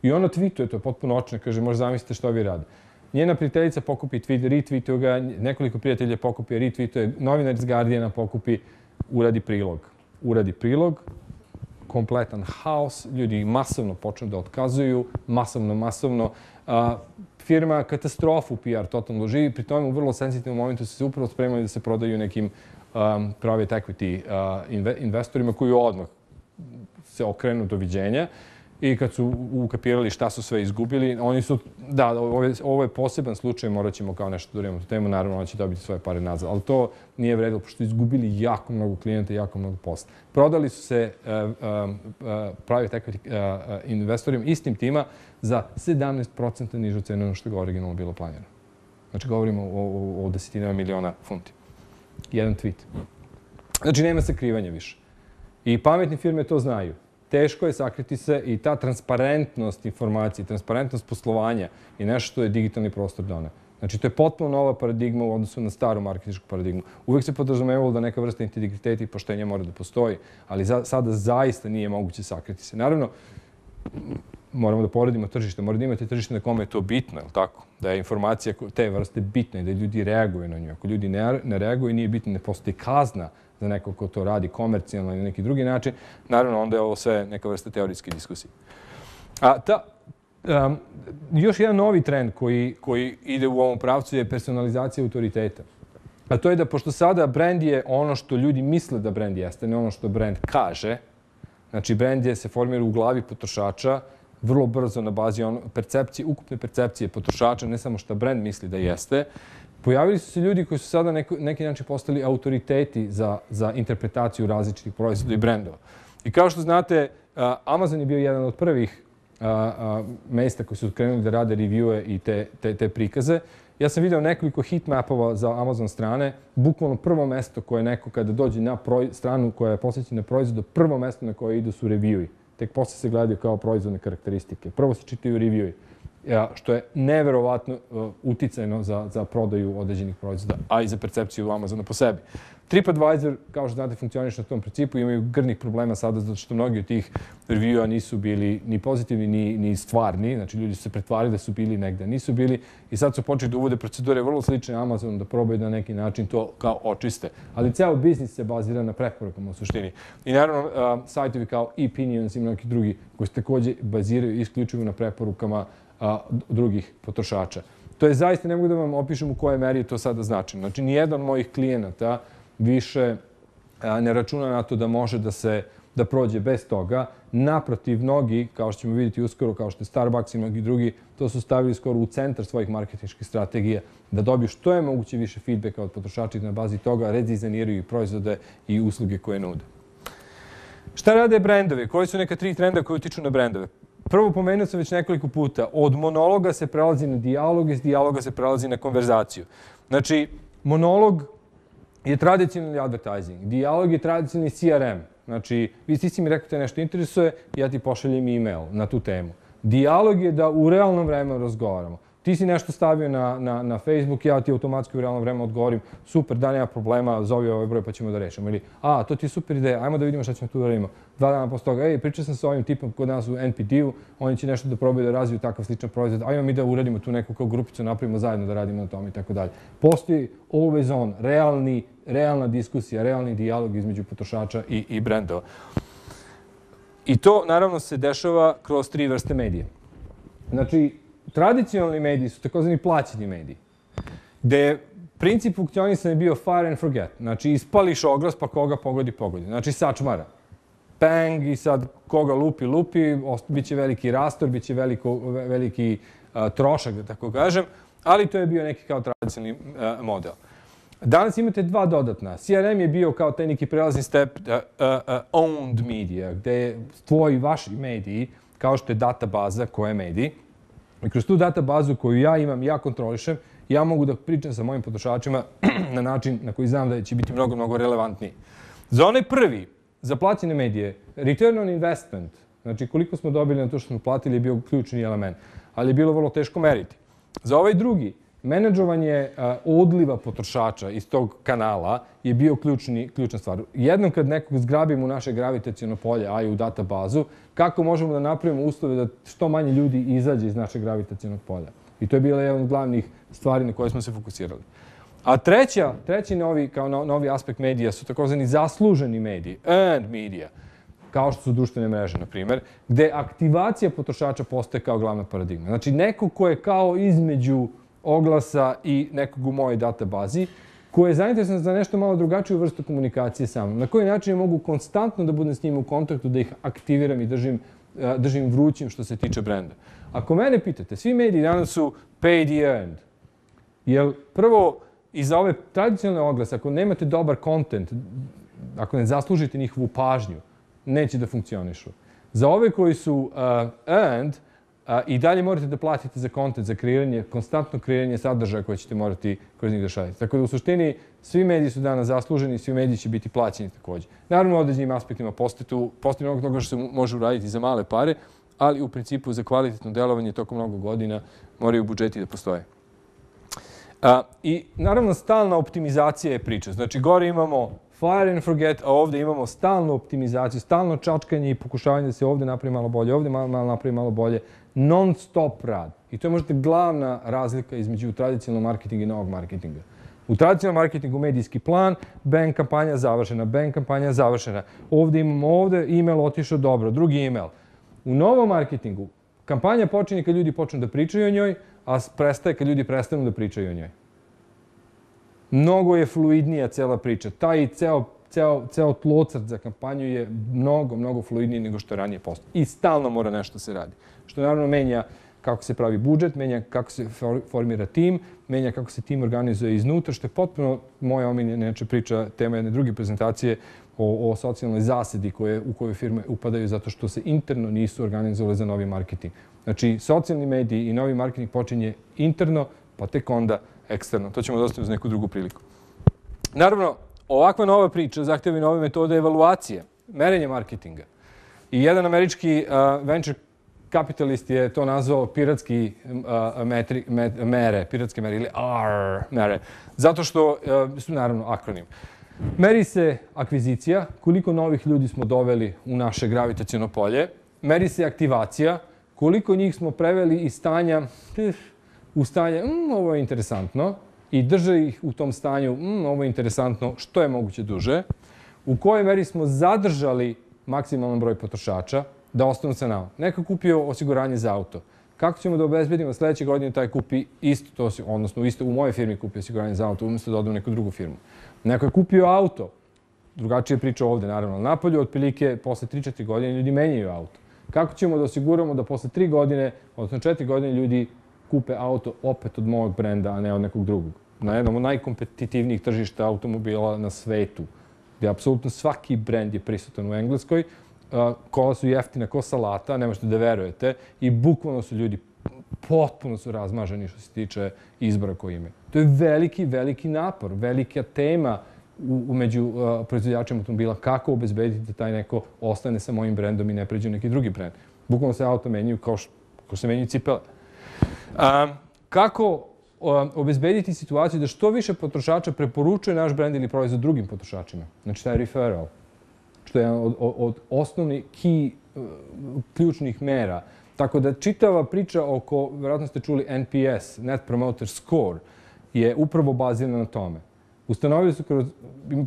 I ona tweetuje, to je potpuno očne, kaže, možda zamislite što vi radi. Njena prijateljica pokupi tweet, retweetuje ga, nekoliko prijatelja pokupi, retweetuje, novinar iz Guardiana pokupi, uradi prilog. Uradi prilog, kompletan haos, ljudi masovno počnu da otkazuju, masovno, masovno. A, firma katastrofu P R totalno živi, pri tome u vrlo senzitivnom momentu su se upravo spremali da se prodaju nekim um, private equity uh, inve, investorima koji odmah se okrenu doviđenja. I kad su ukapirali šta su sve izgubili, oni su, da, ovo je, ovo je poseban slučaj, morat ćemo kao nešto da uradimo tu temu, naravno ona će dobiti svoje pare nazad, ali to nije vredilo, pošto su izgubili jako mnogo klijenta i jako mnogo posla. Prodali su se uh, uh, uh, private equity uh, uh, investorima istim tima za sedamnaest posto nižu cenu nego što je originalno bilo planirano. Znači govorimo o, o, o desetinama miliona funti. Jedan tweet. Znači nema sakrivanja više. I pametne firme to znaju. Teško je sakriti se i ta transparentnost informacije, transparentnost poslovanja je nešto što je digitalni prostor dana. Znači, to je potpuno nova paradigma u odnosu na staru marketinšku paradigmu. Uvijek se podrazumevalo da neka vrsta integriteta i poštenja mora da postoji, ali za, sada zaista nije moguće sakriti se. Naravno, moramo da poredimo tržište, mora da imate tržište na kome je to bitno, je li tako? Da je informacija te vrste bitna i da ljudi reaguju na nju. Ako ljudi ne, ne reaguju, nije bitno, ne postoji kazna za neko ko to radi komercijalno ili neki drugi način, naravno onda je ovo sve neka vrsta teorijske diskusije. A ta, um, još jedan novi trend koji, koji ide u ovom pravcu je personalizacija autoriteta. A to je da pošto sada brand je ono što ljudi misle da brand jeste, ne ono što brand kaže, znači brand je se formira u glavi potrošača vrlo brzo na bazi ono, percepcije, ukupne percepcije potrošača, ne samo što brand misli da jeste. Pojavili su se ljudi koji su sada neko, neki način postali autoriteti za, za interpretaciju različitih proizvoda i brendova. I kao što znate, Amazon je bio jedan od prvih mesta koji su krenuli da rade reviewe i te, te, te prikaze. Ja sam vidio nekoliko heatmapova za Amazon strane. Bukvalno prvo mesto koje neko kada dođe na proj, stranu koja je posvećena proizvodu, prvo mesto na koje idu su reviewi. Tek posle se gledaju kao proizvodne karakteristike. Prvo se čitaju reviewi. Što je neverovatno uticajno za, za prodaju određenih proizvoda, a i za percepciju Amazona po sebi. TripAdvisor, kao što znate, funkcioniše na tom principu, imaju grnih problema sada zato što mnogi od tih reviewa nisu bili ni pozitivni, ni, ni stvarni. Znači, ljudi su se pretvarili da su bili negde, nisu bili. I sad su počeli da uvode procedure vrlo slične Amazonu, da probaju na neki način to kao očiste. Ali ceo biznis se bazira na preporukama u suštini. I naravno, uh, sajtovi kao eOpinions i mnogi drugi koji se također baziraju isključivo na preporukama a, drugih potrošača. To je zaista, ne mogu da vam opišem u kojoj meri je to sada značajno. Znači, nijedan od mojih klijenata više a, ne računa na to da može da se da prođe bez toga. Naprotiv, mnogi, kao što ćemo vidjeti uskoro, kao što je Starbucks i mnogi drugi, to su stavili skoro u centar svojih marketinških strategija, da dobiju što je moguće više feedbacka od potrošača i na bazi toga redizajniraju i proizvode i usluge koje nude. Šta rade brendovi? Koji su neka tri trenda koji utiču na brendove? Prvo, pomenuo sam već nekoliko puta, od monologa se prelazi na dijalog, iz dijaloga se prelazi na konverzaciju. Znači, monolog je tradicionalni advertising, dijalog je tradicionalni C R M. Znači, vi si mi rekao te nešto interesuje, ja ti pošaljem e-mail na tu temu. Dijalog je da u realnom vremenu razgovaramo. Ti si nešto stavio na, na, na Facebook, ja ti automatski u realnom vremenu odgovorim, super, da, nema problema, zovi ovaj broj pa ćemo da rešimo. Ili, a, to ti je super ideja, ajmo da vidimo šta ćemo tu da radimo. Dva dana posle toga, ej, pričao sam sa ovim tipom kod nas u N P D-u, oni će nešto da probaju da razviju takav sličan proizvod, ajmo mi da uradimo tu neku kao grupicu, napravimo zajedno da radimo na tom i tako dalje. Postoji always on, realni, realna diskusija, realni dijalog između potrošača i, i brendova. I to, naravno, se dešava kroz tri vrste medije. Znači, tradicionalni mediji su takozvani plaćeni mediji, gde je princip funkcionisanja bio fire and forget. Znači, ispališ oglas pa koga pogodi, pogodi. Znači, sačmara. Bang i sad koga lupi, lupi, bit će veliki rastor, bit će veliko, veliki uh, trošak, da tako kažem, ali to je bio neki kao tradicionalni uh, model. Danas imate dva dodatna. C R M je bio kao taj neki prelazni step uh, uh, uh, owned media, gde je tvoji, vaši mediji, kao što je databaza koja je mediji, i kroz tu databazu koju ja imam, ja kontrolišem, ja mogu da pričam sa mojim potrošačima na način na koji znam da će biti mnogo, mnogo relevantniji. Za onaj prvi, za plaćene medije, return on investment, znači koliko smo dobili na to što smo platili je bio ključni element, ali je bilo vrlo teško meriti. Za ovaj drugi, menadžovanje odliva potrošača iz tog kanala je bio ključni, ključna stvar. Jednom kad nekog zgrabimo u naše gravitaciono polje, a i u databazu, kako možemo da napravimo uslove da što manje ljudi izađe iz našeg gravitacionog polja. I to je bila jedna od glavnih stvari na koje smo se fokusirali. A treća, treći novi, kao novi aspekt medija su takozvani zasluženi mediji, earned media, kao što su društvene mreže, na primjer, gde aktivacija potrošača postaje kao glavna paradigma. Znači, neko ko je kao između oglasa i nekog u mojoj databazi, koji je zainteresovan za nešto malo drugačiju vrstu komunikacije sa mnom. Na koji način mogu konstantno da budem s njima u kontaktu, da ih aktiviram i držim, držim vrućim što se tiče brenda. Ako mene pitate, svi mediji danas su paid i earned. Jer prvo, i za ove tradicionalne oglase, ako nemate dobar content, ako ne zaslužite njihovu pažnju, neće da funkcionišu. Za ove koji su uh, earned, uh, i dalje morate da platite za content, za kreiranje, konstantno kreiranje sadržaja koje ćete morati kroz njih da šaljete. Tako da u suštini svi mediji su danas zasluženi, svi mediji će biti plaćeni također. Naravno, u određenim aspektima postoji mnogo toga što se može uraditi za male pare, ali u principu za kvalitetno delovanje tokom mnogo godina moraju budžeti da postoje. A, I naravno stalna optimizacija je priča. Znači gore imamo fire and forget, a ovdje imamo stalnu optimizaciju, stalno čačkanje i pokušavanje da se ovdje napravi malo bolje, ovdje malo, malo napravi malo bolje. Non-stop rad. I to je možda glavna razlika između tradicionalnog marketinga i novog marketinga. U tradicionalnom marketingu medijski plan, bang kampanja završena, bang kampanja završena. Ovdje imamo ovdje, e-mail otišao dobro, drugi e-mail. U novom marketingu kampanja počinje kad ljudi počnu da pričaju o njoj, a prestaje kad ljudi prestanu da pričaju o njoj. Mnogo je fluidnija cela priča. Taj ceo, ceo, ceo tlocrt za kampanju je mnogo, mnogo fluidniji nego što je ranije postao. I stalno mora nešto se radi. Što naravno menja kako se pravi budžet, menja kako se formira tim, menja kako se tim organizuje iznutra, što je potpuno moja omiljena priča, tema jedne druge prezentacije o, o socijalnoj zasedi koje, u kojoj firme upadaju zato što se interno nisu organizovali za novi marketing. Znači, socijalni mediji i novi marketing počinje interno, pa tek onda eksterno. To ćemo dostaviti uz neku drugu priliku. Naravno, ovakva nova priča zahtjeva i nove metode evaluacije, merenja marketinga. I jedan američki uh, venture kapitalist je to nazvao piratski uh, metri, met, mere, piratske mere ili A R mere, zato što uh, su naravno akronim. Meri se akvizicija, koliko novih ljudi smo doveli u naše gravitaciono polje. Meri se aktivacija, koliko njih smo preveli iz stanja u stanje, mm, ovo je interesantno, i drže ih u tom stanju, mm, ovo je interesantno, što je moguće duže. U kojoj meri smo zadržali maksimalan broj potrošača da ostanu sa nama. Neko kupio osiguranje za auto. Kako ćemo da obezbedimo sljedeće godine taj kupi isto to, odnosno isto u mojoj firmi kupio osiguranje za auto, umjesto da odu u neku drugu firmu. Neko je kupio auto, drugačije priča ovdje, naravno. Napolju, otprilike, posle tri četiri godine ljudi menjaju auto. Kako ćemo da osiguramo da posle tri godine, odnosno četiri godine ljudi kupe auto opet od mojeg brenda, a ne od nekog drugog? Na jednom od najkompetitivnijih tržišta automobila na svetu. gde apsolutno svaki brend je prisutan u Engleskoj, kola su jeftina ko salata, ne možete da verujete, i bukvalno su ljudi potpuno su razmaženi što se tiče izbora koji imaju. To je veliki, veliki napor, velika tema u, među uh, proizvođačima automobila, kako obezbediti da taj neko ostane sa mojim brendom i ne pređe neki drugi brend. Bukvalno se auto menjaju kao što, kao se menjaju cipele. Um, kako um, obezbediti situaciju da što više potrošača preporučuje naš brend ili proizvod drugim potrošačima? Znači, taj referral, što je od, od, od osnovnih key, uh, ključnih mera. Tako da čitava priča oko, vjerojatno ste čuli, N P S, Net Promoter Score, je upravo bazirana na tome. Ustanovili su kroz,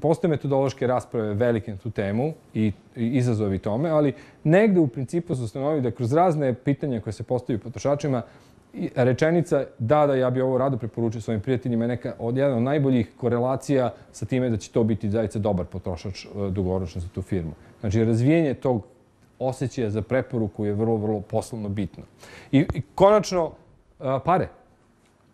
postoje metodološke rasprave velike na tu temu i, i izazovi tome, ali negde u principu su ustanovili da kroz razne pitanja koje se postavljaju potrošačima, rečenica da, da, ja bi ovo rado preporučio svojim prijateljima je neka od jedna od najboljih korelacija sa time da će to biti zaista dobar potrošač dugoročno za tu firmu. Znači, razvijenje tog osjećaja za preporuku je vrlo, vrlo poslovno bitno. I, i konačno, a, pare,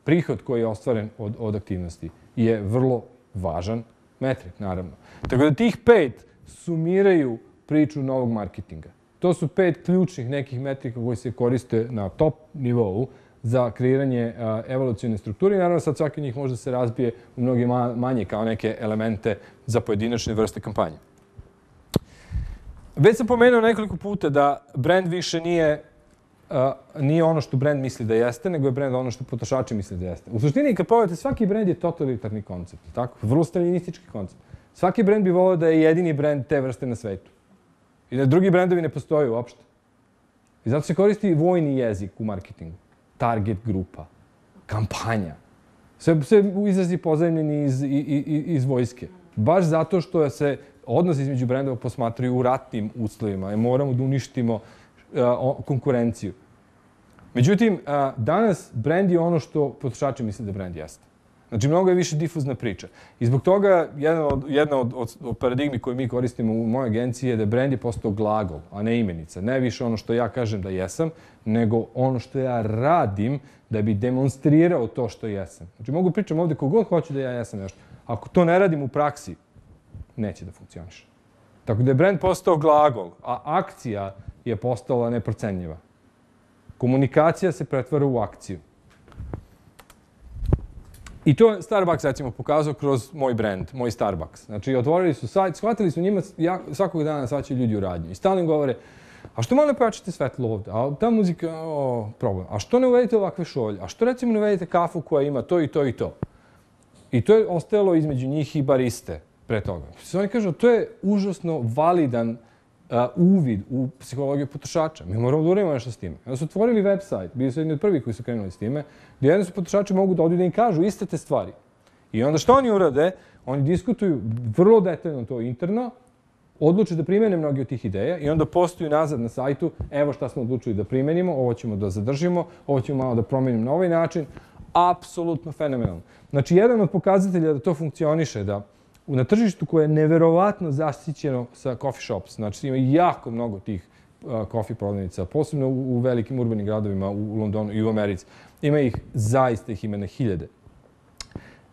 prihod koji je ostvaren od, od aktivnosti je vrlo važan metrik, naravno. Tako da tih pet sumiraju priču novog marketinga. To su pet ključnih nekih metrika koji se koriste na top nivou za kreiranje a, evolucione strukture. I naravno sad svaki od njih može da se razbije u mnoge manje kao neke elemente za pojedinačne vrste kampanje. Već sam pomenuo nekoliko puta da brand više nije, uh, nije ono što brand misli da jeste, nego je brand ono što potrošači misle da jeste. U suštini, kad pogledate, svaki brand je totalitarni koncept, tako? Vrlo staljinistički koncept. Svaki brand bi volio da je jedini brand te vrste na svetu. I da drugi brandovi ne postoje uopšte. I zato se koristi vojni jezik u marketingu. Target grupa, kampanja. Sve, sve izrazi pozajmljeni iz, iz, iz vojske. Baš zato što se odnos između brendova posmatraju u ratnim uslovima i moramo da uništimo uh, konkurenciju. Međutim, uh, danas brend je ono što potrošači misle da brend jeste. Znači, mnogo je više difuzna priča. I zbog toga jedna od, jedna od, od, od paradigmi koju mi koristimo u mojoj agenciji je da brend je postao glagol, a ne imenica. Ne više ono što ja kažem da jesam, nego ono što ja radim da bi demonstrirao to što jesam. Znači, mogu pričam ovde kogod hoće da ja jesam nešto. Ako to ne radim u praksi, neće da funkcioniše. Tako da je brand postao glagol, a akcija je postala neprocenljiva. Komunikacija se pretvara u akciju. I to je Starbucks, recimo, pokazao kroz moj brand, moj Starbucks. Znači, otvorili su sajt, shvatili su njima, ja, svakog dana svaćaju ljudi u radnju. I stalno im govore, a što malo ne pojačate svetlo ovde? A ta muzika, o, problem. A što ne uvedete ovakve šolje? A što, recimo, ne uvedete kafu koja ima to i to i to? I to je ostajalo između njih i bariste pre toga. Oni kažu, to je užasno validan uh, uvid u psihologiju potrošača. Mi moramo da uradimo nešto s time. Onda su otvorili website, bili su jedni od prvih koji su krenuli s time, gdje jedni su potrošači mogu da odu da im kažu iste te stvari. I onda što oni urade? Oni diskutuju vrlo detaljno to interno, odluče da primene mnogi od tih ideja i onda postoju nazad na sajtu, evo šta smo odlučili da primenimo, ovo ćemo da zadržimo, ovo ćemo malo da promenimo na ovaj način. Apsolutno fenomenalno. Znači, jedan od pokazatelja da to funkcioniše, da na tržištu koje je neverovatno zasićeno sa coffee shops, znači ima jako mnogo tih uh, coffee prodavnica, posebno u, u velikim urbanim gradovima, u, u Londonu i u Americi. Ima ih, zaista ih ima na hiljade.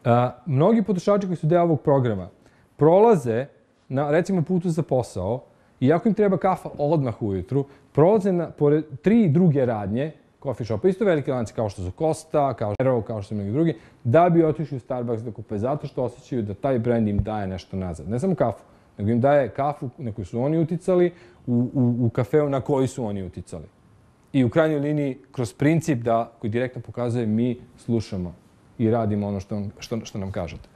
Uh, mnogi potrošači koji su deo ovog programa prolaze na, recimo, putu za posao i ako im treba kafa odmah ujutru, prolaze na, pored tri druge radnje, coffee shopa, isto velike lanci kao što su Costa, kao što su kao što su mnogi drugi, da bi otišli u Starbucks da kupe, zato što osjećaju da taj brend im daje nešto nazad. Ne samo kafu, nego im daje kafu na koju su oni uticali, u, u, u kafeu na koji su oni uticali. I u krajnjoj liniji, kroz princip da, koji direktno pokazuje, mi slušamo i radimo ono što, što, što nam kažete.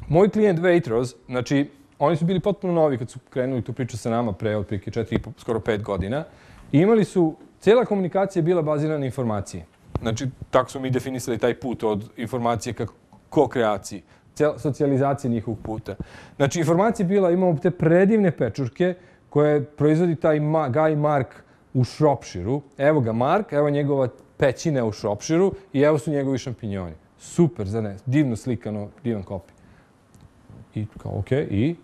Moj klijent Waitrose, znači, oni su bili potpuno novi kad su krenuli tu priču sa nama pre otprilike četiri, skoro pet godina. I imali su, cijela komunikacija je bila bazirana na informacije. Znači, tako su mi definisali taj put od informacije ka ko-kreaciji, socijalizacije njihovog puta. Znači, informacija je bila, imamo te predivne pečurke koje proizvodi taj Ma, Guy Mark u Shropshireu. Evo ga Mark, evo njegova pećina u Shropshireu i evo su njegovi šampinjoni. Super, za ne, divno slikano, divan kopij. I kao, okej, okay, i?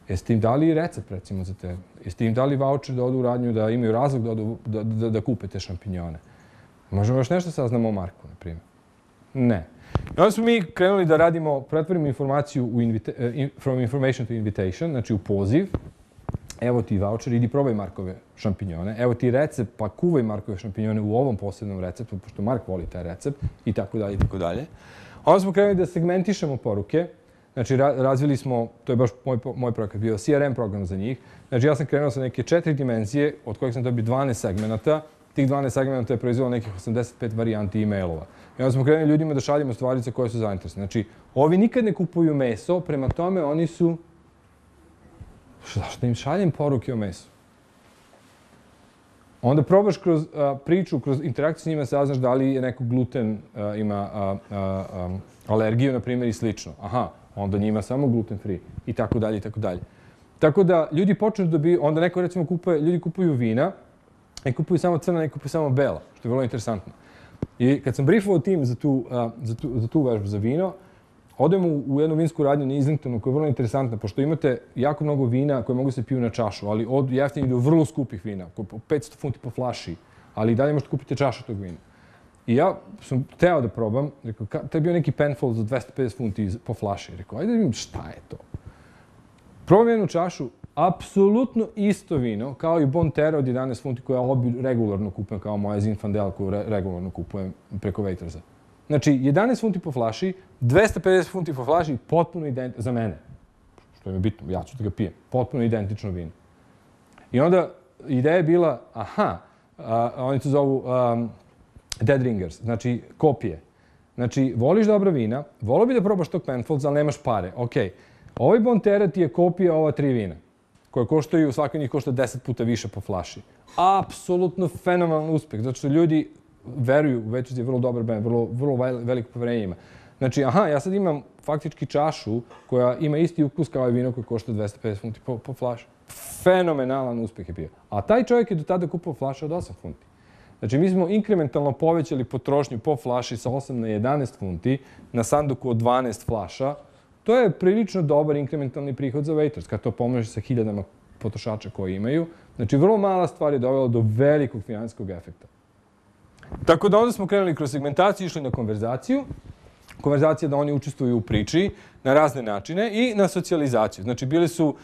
Jeste im dali recept, recimo, za te? Jeste im dali voucher da odu u radnju, da imaju razlog da, odu, da, da, da kupe te šampinjone? Možemo još nešto saznamo o Marku, na primjer. Ne. I onda smo mi krenuli da radimo, pretvorimo informaciju u from information to invitation, znači u poziv. Evo ti voucher, idi probaj Markove šampinjone. Evo ti recept, pa kuvaj Markove šampinjone u ovom posebnom receptu, pošto Mark voli taj recept, i tako dalje, i tako dalje. Onda smo krenuli da segmentišemo poruke. Znači, razvili smo, to je baš moj, moj projekat bio, C R M program za njih. Znači, ja sam krenuo sa neke četiri dimenzije, od kojih sam dobio dvanaest segmenata. Tih dvanaest segmenata je proizvelo nekih osamdeset pet varijanti e-mailova. I onda smo krenuli ljudima da šaljemo stvari za koje su zainteresni. Znači, ovi nikad ne kupuju meso, prema tome oni su... Zašto im šaljem poruke o mesu? Onda probaš kroz a, priču, kroz interakciju s njima saznaš da li je neko gluten a, ima a, a, a, alergiju, na primjer, i slično. Aha, onda njima samo gluten free i tako dalje i tako dalje. Tako da ljudi počnu da bi, onda neko recimo kupuje, ljudi kupuju vina, ne kupuju samo crna, ne kupuju samo bela, što je vrlo interesantno. I kad sam briefovao tim za tu, a, za tu, za tu vežbu za vino, odemo u, u jednu vinsku radnju na Islingtonu koja je vrlo interesantna, pošto imate jako mnogo vina koje mogu se piju na čašu, ali od jeftinih do vrlo skupih vina, po petsto funti po flaši, ali i dalje možete kupiti čašu tog vina. I ja sam teo da probam, rekao, to je bio neki Penfold za dvesta pedeset funti po flaši. Rekao, ajde da vidim šta je to. Probam jednu čašu, apsolutno isto vino, kao i Bonterra od jedanaest funti koja obi regularno kupujem, kao moja Zinfandel koju re, regularno kupujem preko Waitersa. Znači, jedanaest funti po flaši, dvesta pedeset funti po flaši, potpuno identično, za mene, što je mi bitno, ja ću da ga pijem, potpuno identično vino. I onda ideja je bila, aha, a, oni to zovu um, Dead Ringers, znači kopije. Znači, voliš dobra vina, volio bi da probaš tog Penfolds, ali nemaš pare. Ok, ovaj Bonterra ti je kopija ova tri vina, koje koštaju, svaka njih košta deset puta više po flaši. Apsolutno fenomenalan uspeh, zato što ljudi veruju, Waiters je vrlo dobar brand, vrlo, vrlo veliko poverenje ima. Znači, aha, ja sad imam faktički čašu koja ima isti ukus kao i vino koje košta dvesta pedeset funti po, po flaši. Fenomenalan uspeh je bio. A taj čovjek je do tada kupao flaše od osam funti. Znači, mi smo inkrementalno povećali potrošnju po flaši sa osam na jedanaest funti, na sanduku od dvanaest flaša. To je prilično dobar inkrementalni prihod za Waiters, kad to pomnožiš sa hiljadama potrošača koji imaju. Znači, vrlo mala stvar je dovela do velikog finansijskog efekta. Tako da onda smo krenuli kroz segmentaciju, išli na konverzaciju. Konverzacija da oni učestvuju u priči na razne načine i na socijalizaciju. Znači, bili su,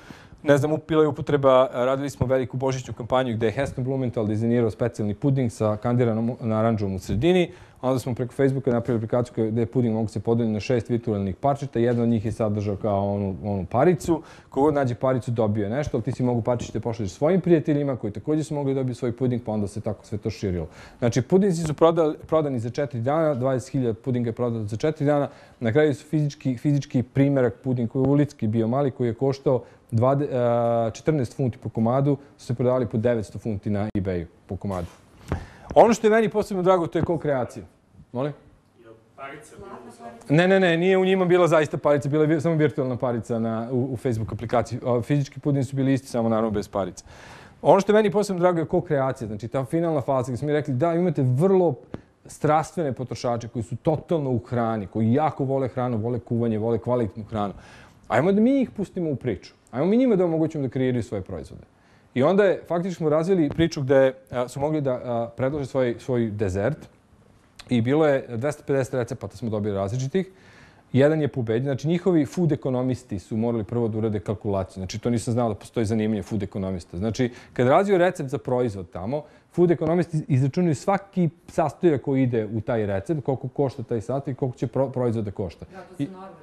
ne znam, bila je upotreba, radili smo veliku božićnu kampanju gde je Heston Blumenthal dizajnirao specijalni puding sa kandiranom naranđom u sredini. Onda smo preko Facebooka napravili aplikaciju gde je puding mogu se podeliti na šest virtualnih parčeta. Jedan od njih je sadržao kao onu, onu paricu. Kogod nađe paricu dobio je nešto, ali ti si mogu parčiće pošalješ svojim prijateljima koji također su mogli dobiti svoj puding, pa onda se tako sve to širilo. Znači, pudinci su prodali, prodani za četiri dana, dvadeset hiljada pudinga je prodano za četiri dana. Na kraju su fizički, fizički primjerak puding koji je ulitski bio mali, koji je koštao četrnaest funti po komadu, su se prodavali po devetsto funti na eBayu po komadu. Ono što je meni posebno drago, to je co-kreacija. Molim? Parica bila? Ne, ne, ne, nije u njima bila zaista parica, bila je samo virtualna parica na, u, u Facebook aplikaciji. Fizički pudini su bili isti, samo naravno bez parica. Ono što je meni posebno drago je co-kreacija, znači ta finalna faza gdje smo mi rekli da imate vrlo strastvene potrošače koji su totalno u hrani, koji jako vole hranu, vole kuvanje, vole kvalitetnu hranu. Ajmo da mi ih pustimo u priču. Ajmo mi njima da omogućimo da kreiraju svoje proizvode. I onda je, faktički smo razvili priču gde a, su mogli da a, predlože svoj, svoj dezert i bilo je dvesta pedeset recepata smo dobili različitih. Jedan je pobeđen, znači njihovi food ekonomisti su morali prvo da urade kalkulaciju. Znači to nisam znao da postoji zanimanje food ekonomista. Znači kad razviju recept za proizvod tamo, food ekonomisti izračunaju svaki sastojak koji ide u taj recept, koliko košta taj sastojak i koliko će pro, proizvod da košta. Da, to su norme.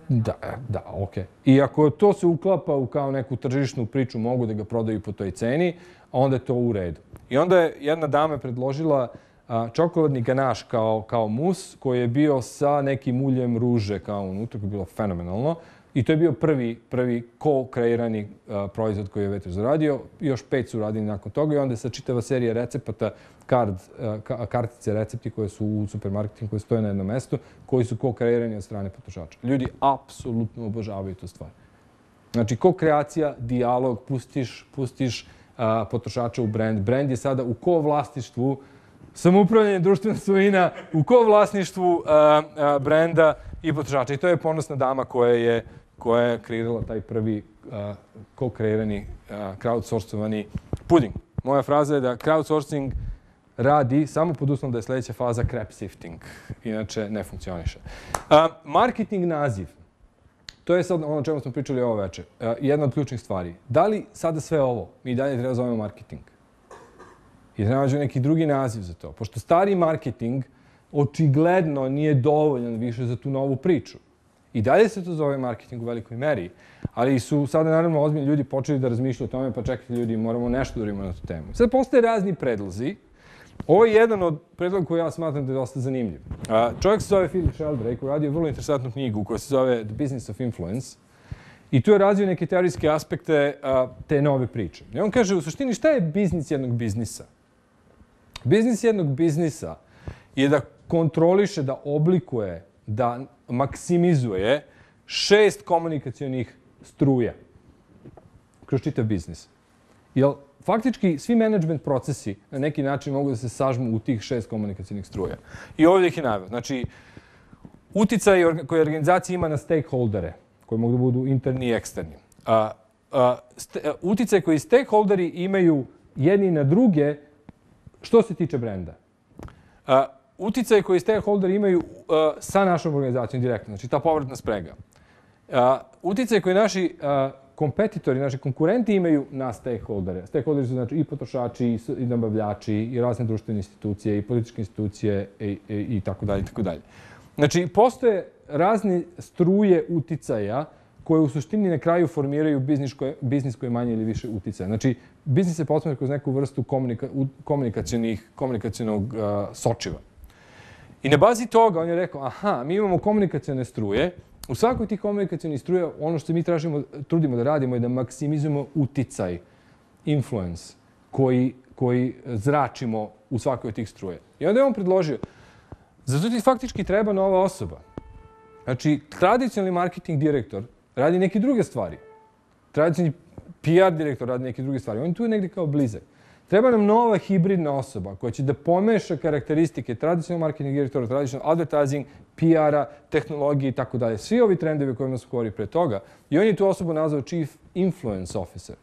Da, da, okej. I ako to se uklapa u kao neku tržišnu priču, mogu da ga prodaju po toj ceni, onda je to u redu. I onda je jedna dama predložila a, čokoladni ganaš kao, kao mus, koji je bio sa nekim uljem ruže kao unutra, koji je bilo fenomenalno. I to je bio prvi, prvi ko-kreirani proizvod koji je Waiters zaradio. Još pet su radili nakon toga i onda je sa čitava serija recepata, kard, a, kartice recepti koje su u supermarketima, koje stoje na jednom mestu, koji su ko-kreirani od strane potrošača. Ljudi apsolutno obožavaju tu stvar. Znači, ko-kreacija, dijalog, pustiš, pustiš a, potrošača u brand. Brand je sada u ko-vlasništvu, samoupravljanje društvena svojina, u ko-vlasništvu a, a, brenda i potrošača. I to je ponosna dama koja je koja je kreirala taj prvi uh, ko-kreirani, uh, crowdsourcovani puding. Moja fraza je da crowdsourcing radi samo pod uslovom da je sljedeća faza crap sifting. Inače, ne funkcioniše. A, marketing naziv. To je sad ono o čemu smo pričali ovo večer. A, jedna od ključnih stvari. Da li sada sve ovo mi dalje treba zovemo marketing? I da nađu neki drugi naziv za to. Pošto stari marketing očigledno nije dovoljan više za tu novu priču. I dalje se to zove marketing u velikoj meri, ali su sada naravno ozbiljni ljudi počeli da razmišljaju o tome, pa čekajte ljudi, moramo nešto da uradimo na tu temu. Sad postoje razni predlozi. Ovo je jedan od predloga koji ja smatram da je dosta zanimljiv. Čovjek se zove Philip Sheldrake, koji radio vrlo interesantnu knjigu koja se zove The Business of Influence. I tu je razvio neke teorijske aspekte te nove priče. I on kaže, u suštini, šta je biznis jednog biznisa? Biznis jednog biznisa je da kontroliše, da oblikuje, da maksimizuje šest komunikacionih struja kroz čitav biznis. Jer faktički svi menadžment procesi na neki način mogu da se sažmu u tih šest komunikacionih struja. I ovdje ih je naveo. Znači, uticaj koji organizacija ima na stakeholdere, koji mogu da budu interni i eksterni. A, a, st, a, uticaj koji stakeholderi imaju jedni na druge što se tiče brenda. A, uticaj koji stakeholderi imaju uh, sa našom organizacijom direktno, znači ta povratna sprega. Uh, uticaj koji naši uh, kompetitori, naši konkurenti imaju na stakeholdere. Stakeholderi su znači i potrošači, i, i nabavljači, i razne društvene institucije, i političke institucije, i, i, i tako dalje, i tako dalje. Znači, postoje razne struje uticaja koje u suštini na kraju formiraju biznis koje, biznis koji je manje ili više uticaja. Znači, biznis se posmatra kroz neku vrstu komunika, komunikacionih, komunikacionog uh, sočiva. I na bazi toga on je rekao, aha, mi imamo komunikacione struje. U svakoj tih komunikacionih struja ono što mi tražimo, trudimo da radimo je da maksimizujemo uticaj, influence, koji, koji zračimo u svakoj od tih struje. I onda je on predložio, zato ti faktički treba nova osoba. Znači, tradicionalni marketing direktor radi neke druge stvari. Tradicionalni P R direktor radi neke druge stvari. On je tu negdje kao blizak. Treba nam nova hibridna osoba koja će da pomeša karakteristike tradicionalnog marketing direktora, tradicionalnog advertising, P R-a, tehnologije i tako dalje. Svi ovi trendovi o kojima smo govorili pre toga. I on je tu osobu nazvao Chief Influence Officer.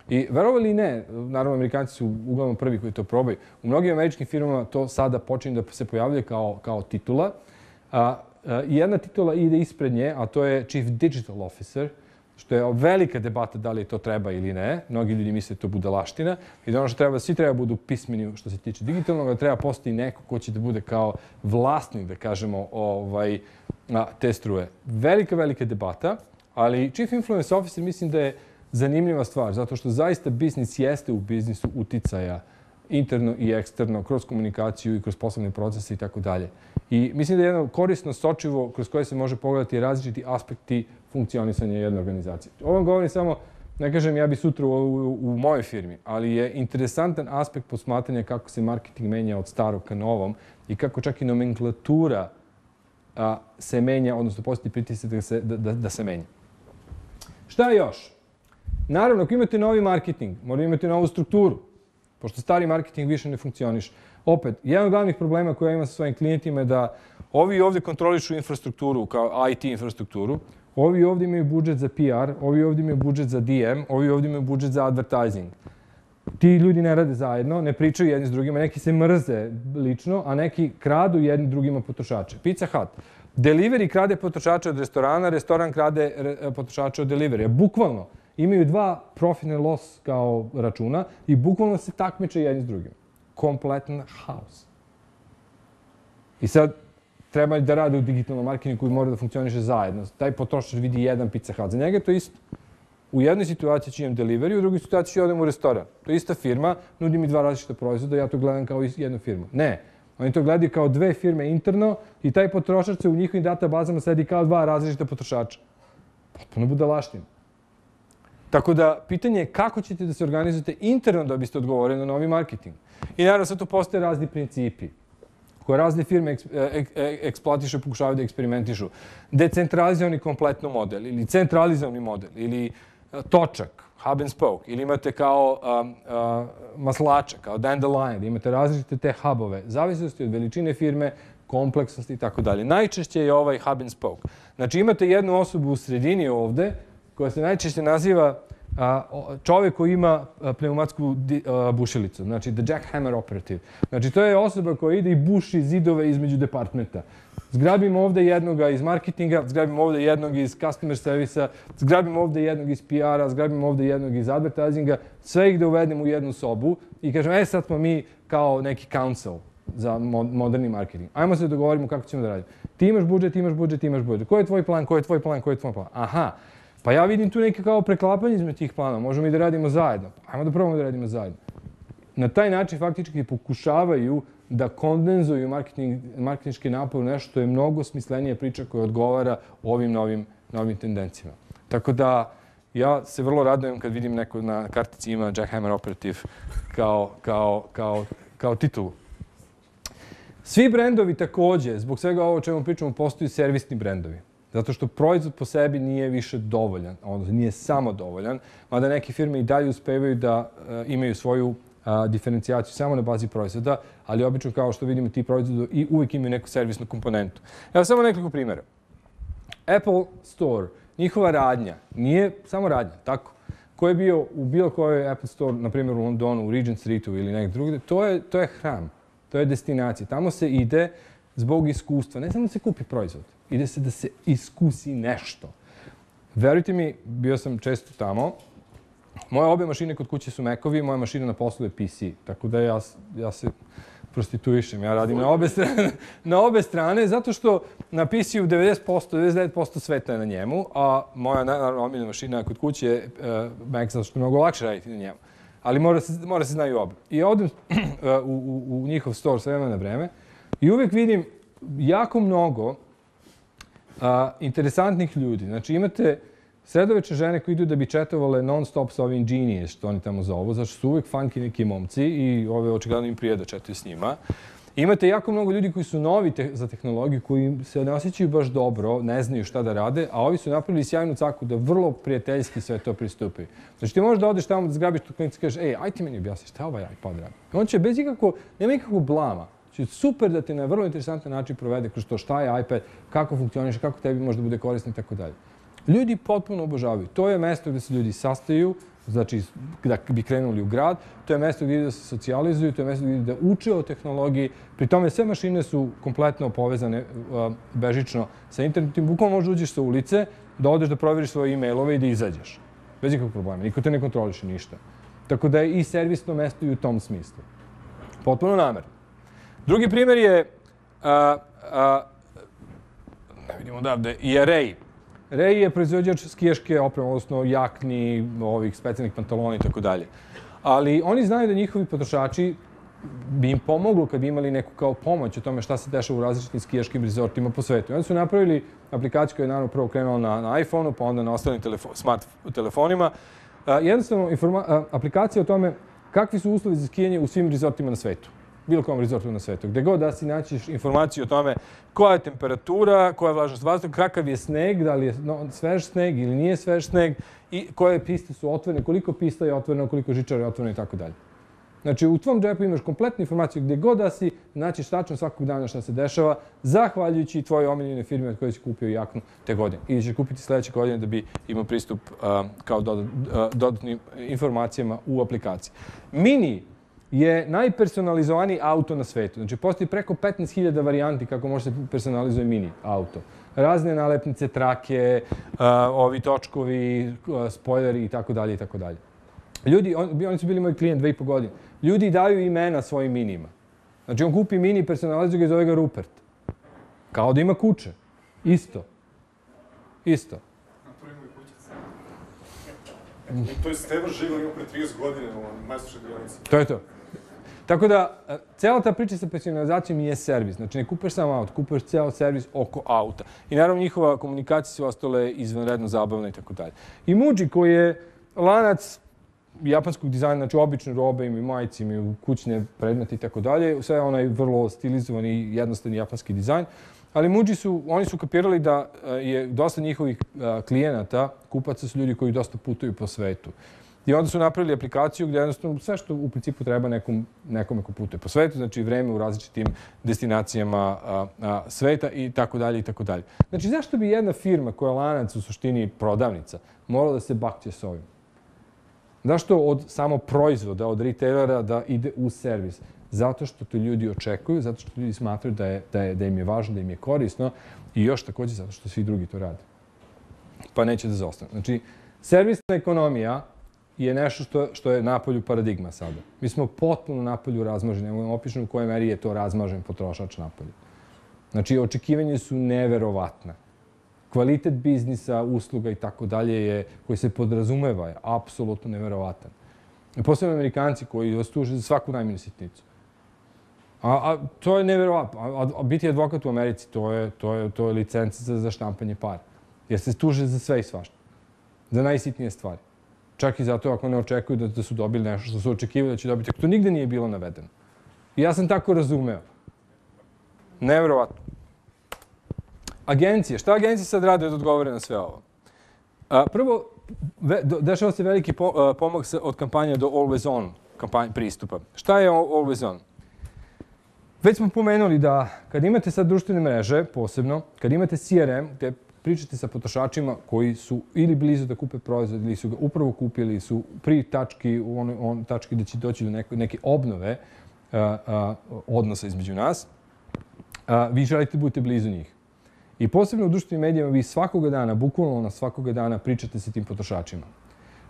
I verovali ne, naravno Amerikanci su uglavnom prvi koji to probaju. U mnogim američkim firmama to sada počinje da se pojavljuje kao, kao titula. A, a, jedna titula ide ispred nje, a to je Chief Digital Officer, što je velika debata da li to treba ili ne. Mnogi ljudi misle da to budalaština i da ono što treba, svi treba budu pismeni što se tiče digitalnog, da treba postoji neko ko će da bude kao vlasnik, da kažemo, ovaj, te struje. Velika, velika debata, ali Chief Influence Officer mislim da je zanimljiva stvar, zato što zaista biznis jeste u biznisu uticaja interno i eksterno, kroz komunikaciju i kroz poslovne procese i tako dalje. I mislim da je jedno korisno sočivo kroz koje se može pogledati različiti aspekti funkcionisanja jedne organizacije. Ovo vam govorim samo, ne kažem ja bi sutra u, u, u mojoj firmi, ali je interesantan aspekt posmatranja kako se marketing menja od starog ka novom i kako čak i nomenklatura a, se menja, odnosno postoji pritisak da se, da, da, da se menja. Šta još? Naravno, ako imate novi marketing, morate imati novu strukturu, pošto stari marketing više ne funkcioniše. Opet, jedan od glavnih problema koje ja imam sa svojim klijentima je da ovi ovdje kontrolišu infrastrukturu, kao I T infrastrukturu, ovi ovdje imaju budžet za P R, ovi ovdje imaju budžet za D M, ovi ovdje imaju budžet za advertising. Ti ljudi ne rade zajedno, ne pričaju jedni s drugima, neki se mrze lično, a neki kradu jedni drugima potrošače. Pizza Hut. Delivery krade potrošače od restorana, restoran krade potrošače od delivery. Bukvalno imaju dva profit and loss kao računa i bukvalno se takmiče jedni s drugim. Kompletan haos. I sad treba da rade u digitalnom marketingu koji mora da funkcioniše zajedno. Taj potrošač vidi jedan Pizza Hut. Za njega je to isto. U jednoj situaciji ću imam delivery, u drugoj situaciji ću odem u restoran. To je ista firma, nudi mi dva različita proizvoda, ja to gledam kao jednu firmu. Ne. Oni to gledaju kao dve firme interno i taj potrošač se u njihovim databazama sedi kao dva različita potrošača. Potpuno budalaština. Tako da, pitanje je kako ćete da se organizujete interno da biste odgovorili na novi marketing. I naravno, sad tu postoje razni principi koje razne firme eksploatišu, pokušavaju da eksperimentišu. Decentralizovani kompletno model ili centralizovani model ili točak, hub and spoke, ili imate kao um, uh, maslača, kao dandelion, imate različite te hubove, zavisnosti od veličine firme, kompleksnosti i tako dalje. Najčešće je ovaj hub and spoke. Znači imate jednu osobu u sredini ovde koja se najčešće naziva uh, čovjek koji ima pneumatsku bušilicu, znači the jackhammer operative. Znači to je osoba koja ide i buši zidove između departmenta. Zgrabimo ovde jednoga iz marketinga, zgrabimo ovde jednog iz customer servisa, zgrabimo ovde jednog iz P R-a, zgrabimo ovde jednog iz advertisinga, sve ih da uvedemo u jednu sobu i kažemo, e sad smo mi kao neki council za moderni marketing. Ajmo se dogovorimo kako ćemo da radimo. Ti imaš budžet, imaš budžet, imaš budžet. Koji je tvoj plan, koji je tvoj plan, koji je tvoj plan? Aha, pa ja vidim tu neke kao preklapanje između tih plana. Možemo i da radimo zajedno. Ajmo da probamo da radimo zajedno. Na taj način faktički pokušavaju da kondenzuju marketinški napor u nešto što je mnogo smislenija priča koja odgovara ovim novim, novim tendencijama. Tako da ja se vrlo radujem kad vidim neko na kartici ima Jackhammer Operative kao, kao, kao, kao titulu. Svi brendovi takođe, zbog svega ovo o čemu pričamo, postaju servisni brendovi. Zato što proizvod po sebi nije više dovoljan, odnosno nije samo dovoljan, mada neke firme i dalje uspevaju da imaju svoju diferencijaciju samo na bazi proizvoda, ali obično kao što vidimo ti proizvodi i uvijek imaju neku servisnu komponentu. Evo samo nekoliko primjera. Apple Store, njihova radnja, nije samo radnja, tako? Ko je bio u bilo kojoj Apple Store, na primjer u Londonu, u Regent Streetu ili negdje drugdje, to je, to je hram, to je destinacija. Tamo se ide zbog iskustva, ne samo da se kupi proizvod, ide se da se iskusi nešto. Verujte mi, bio sam često tamo. Moje obe mašine kod kuće su Macovi, moja mašina na poslu je P C. Tako da ja, ja se prostituišem. Ja radim na obe strane, na obe strane zato što na P C-u devedeset posto, devedeset devet posto sveta je na njemu, a moja naravno omiljena mašina kod kuće je uh, Mac zato što je mnogo lakše raditi na njemu. Ali mora se, mora se znaju oba. I odem uh, u, u, u njihov store sve vremena na vreme i uvijek vidim jako mnogo uh, interesantnih ljudi. Znači imate sredovečne žene koji idu da bi četovale non-stop sa ovim genies, što oni tamo zovu, zato što su uvijek funky neki momci i ove očigledno im prije da četuju s njima. Imate jako mnogo ljudi koji su novi te za tehnologiju, koji se ne osjećaju baš dobro, ne znaju šta da rade, a ovi su napravili sjajnu caku da vrlo prijateljski sve to pristupaju. Znači ti možeš da odeš tamo da zgrabiš tu klinicu i kažeš, ej, aj ti meni objasni šta ovaj iPod radi. On će bez ikakvo, nema ikakvog blama. Znači super da te na vrlo interesantan način provede kroz to šta je iPad, kako funkcioniše, kako tebi može da bude korisno i tako dalje. Ljudi potpuno obožavaju. To je mesto gdje se ljudi sastaju, znači da bi krenuli u grad, to je mesto gdje da se socijalizuju, to je mesto gdje da uče o tehnologiji. Pri tome sve mašine su kompletno povezane uh, bežično sa internetom. Bukvalno možeš uđeš sa ulice, da odeš da provjeriš svoje e-mailove i da izađeš. Bez ikakvog problema. Niko te ne kontroliše ništa. Tako da je i servisno mesto i u tom smislu. Potpuno namerno. Drugi primjer je, uh, uh, ne vidimo odavde, i Array. Ray je proizvođač skijaške opreme, odnosno jakni, ovih specijalnih pantalona i tako dalje. Ali oni znaju da njihovi potrošači bi im pomoglo kad bi imali neku kao pomoć o tome šta se dešava u različitim skijaškim rezortima po svetu. I onda su napravili aplikaciju koja je naravno prvo krenula na, na iPhone-u, pa onda na ostalim telefo smart telefonima. A, jednostavno, a, aplikacija o tome kakvi su uslovi za skijanje u svim rezortima na svetu. Bilo kom rezortu na svetu. Gde god da si naćiš informaciju o tome koja je temperatura, koja je vlažnost vazduha, kakav je sneg, da li je svež sneg ili nije svež sneg i koje piste su otvorene, koliko pista je otvoreno, koliko žičara je otvoreno i tako dalje. Znači, u tvom džepu imaš kompletnu informaciju gdje god da si, naćiš tačno svakog dana šta se dešava, zahvaljujući tvojoj omiljene firme od koje si kupio jaknu te godine. Ili ćeš kupiti sljedeće godine da bi imao pristup uh, kao dodat, uh, dodatnim informacijama u aplikaciji. Mini je najpersonalizovaniji auto na svetu. Znači, postoji preko petnaest hiljada varijanti kako može se personalizuje mini auto. Razne nalepnice, trake, uh, ovi točkovi, uh, spoileri i tako dalje i tako dalje. Ljudi, on, oni su bili moj klijent dve i po godine. Ljudi daju imena svojim minima. Znači, on kupi mini, personalizuje ga i zove ga Rupert. Kao da ima kuće. Isto. Isto. To je Stevan Žigor imao pre trideset godine u majstorskoj dionici. To je to. Tako da, cijela ta priča sa personalizacijom je servis. Znači, ne kupeš samo auto, kupeš cijel servis oko auta. I naravno, njihova komunikacija su ostale izvanredno zabavna i tako dalje. I Muji, koji je lanac japanskog dizajna, znači obične robe, imaju majice, imaju kućne predmete i tako dalje. Sve je onaj vrlo stilizovan i jednostavni japanski dizajn. Ali Muji su, oni su kapirali da je dosta njihovih klijenata, kupaca su ljudi koji dosta putuju po svetu. I onda su napravili aplikaciju gdje jednostavno sve što u principu treba nekom, nekome ko putuje po svetu, znači vreme u različitim destinacijama a, a, sveta i tako dalje i tako dalje. Znači zašto bi jedna firma koja je lanac u suštini prodavnica morala da se bakće s ovim? Zašto od samo proizvoda, od retailera da ide u servis? Zato što to ljudi očekuju, zato što ljudi smatraju da, je, da, je, da im je važno, da im je korisno i još također zato što svi drugi to rade. Pa neće da zostane. Znači, servisna ekonomija je nešto što, što je napolju paradigma sada. Mi smo potpuno napolju razmaženi. Ja vam opišem u kojoj meri je to razmažen potrošač napolju. Znači, očekivanje su neverovatna. Kvalitet biznisa, usluga i tako dalje je, koji se podrazumeva, je apsolutno neverovatan. Posebno Amerikanci koji vas tuže za svaku najmanju sitnicu. A, a to je neverovatno. A, a biti advokat u Americi, to je, to je, to je licenca za, za štampanje para. Jer se tuže za sve i svašta. Za najsitnije stvari. Čak i zato ako ne očekuju da, da su dobili nešto što su očekivali da će dobiti. To nigde nije bilo navedeno. I ja sam tako razumeo. Neverovatno. Agencije. Šta agencije sad rade da odgovore na sve ovo? A, prvo, ve, do, dešava se veliki po, a, pomak od kampanje do Always On kampanje, pristupa. Šta je Always On? Već smo pomenuli da kad imate sad društvene mreže, posebno, kad imate C R M, gde pričate sa potrošačima koji su ili blizu da kupe proizvod, ili su ga upravo kupili, ili su pri tački, on, on, tački da će doći do neke, neke obnove a, a, odnosa između nas, a, vi želite da budete blizu njih. I posebno u društvenim medijama vi svakoga dana, bukvalno na svakoga dana pričate sa tim potrošačima.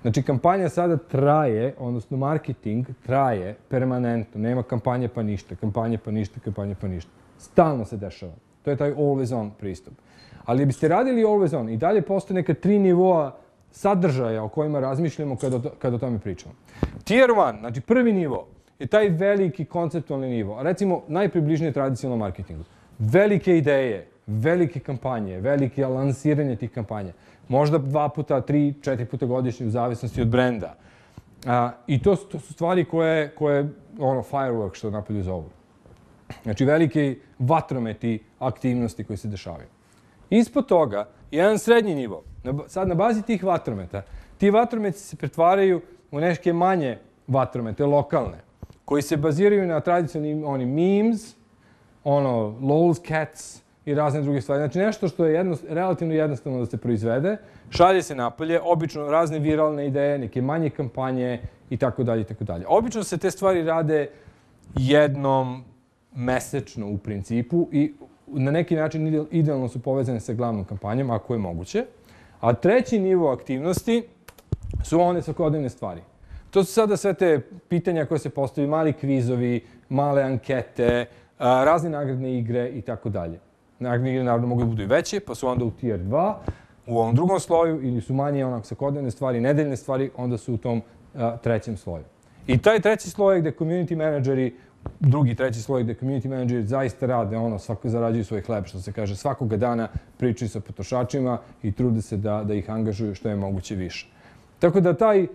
Znači, kampanja sada traje, odnosno marketing traje permanentno. Nema kampanje pa ništa, kampanje pa ništa, kampanje pa ništa. Stalno se dešava. To je taj always on pristup. Ali biste radili always on i dalje postoje neka tri nivoa sadržaja o kojima razmišljamo kada, kada o tome pričamo. Tier one, znači prvi nivo, je taj veliki konceptualni nivo. Recimo, najpribližnije tradicionalnom marketingu. Velike ideje, velike kampanje, velike lansiranje tih kampanja. Možda dva puta, tri, četiri puta godišnje u zavisnosti od brenda. A, I to, to su stvari koje, koje ono, firework što napolju zovu. Znači, velike vatrometi aktivnosti koje se dešavaju. Ispod toga, jedan srednji nivo. Sad, na bazi tih vatrometa, ti vatrometi se pretvaraju u neke manje vatromete, lokalne, koji se baziraju na tradicionalnim oni memes, ono, lols, cats, i razne druge stvari. Znači nešto što je jedno, relativno jednostavno da se proizvede, šalje se napolje, obično razne viralne ideje, neke manje kampanje i tako dalje i tako dalje. Obično se te stvari rade jednom mesečno u principu i na neki način idealno su povezane sa glavnom kampanjom, ako je moguće. A treći nivo aktivnosti su one svakodnevne stvari. To su sada sve te pitanja koje se postavljaju, mali kvizovi, male ankete, razne nagradne igre i tako dalje. Nagradne igre naravno mogu da budu i veće, pa su onda u tier dva, u ovom drugom sloju, ili su manje onak svakodnevne stvari, nedeljne stvari, onda su u tom a, trećem sloju. I taj treći sloj je gde community menadžeri, drugi treći sloj gde community menadžeri zaista rade, ono, svako zarađuju svoj hleb, što se kaže, svakoga dana pričaju sa potrošačima i trude se da, da ih angažuju što je moguće više. Tako da taj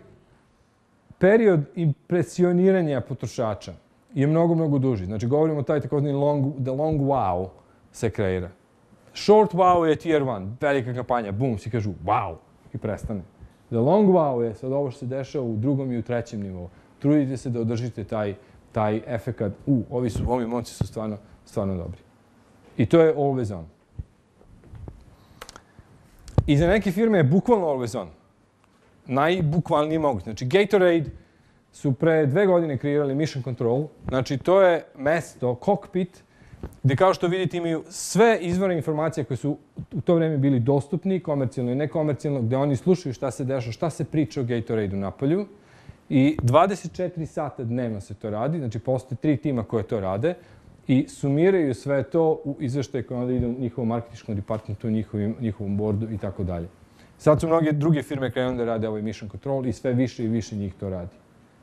period impresioniranja potrošača je mnogo, mnogo duži. Znači, govorimo o taj takozvani long, the long wow se kreira. Short wow je tier one, velika kampanja, bum, svi kažu wow i prestane. The long wow je sad ovo što se dešava u drugom i u trećem nivou. Trudite se da održite taj, taj efekat, u, ovi, su, ovi momci su stvarno, stvarno dobri. I to je always on. I za neke firme je bukvalno always on. Najbukvalniji moguće. Znači, Gatorade su pre dve godine kreirali Mission Control. Znači, to je mesto, kokpit, gde kao što vidite imaju sve izvore informacije koje su u to vreme bili dostupni, komercijalno i nekomercijalno, gde oni slušaju šta se dešava, šta se priča o Gatorade-u napolju. I dvadeset četiri sata dnevno se to radi, znači postoje tri tima koje to rade i sumiraju sve to u izveštaj koji onda ide u njihovom marketinškom departmentu, njihovim, njihovom boardu i tako dalje. Sad su mnoge druge firme krenule da rade ovaj Mission Control i sve više i više njih to radi.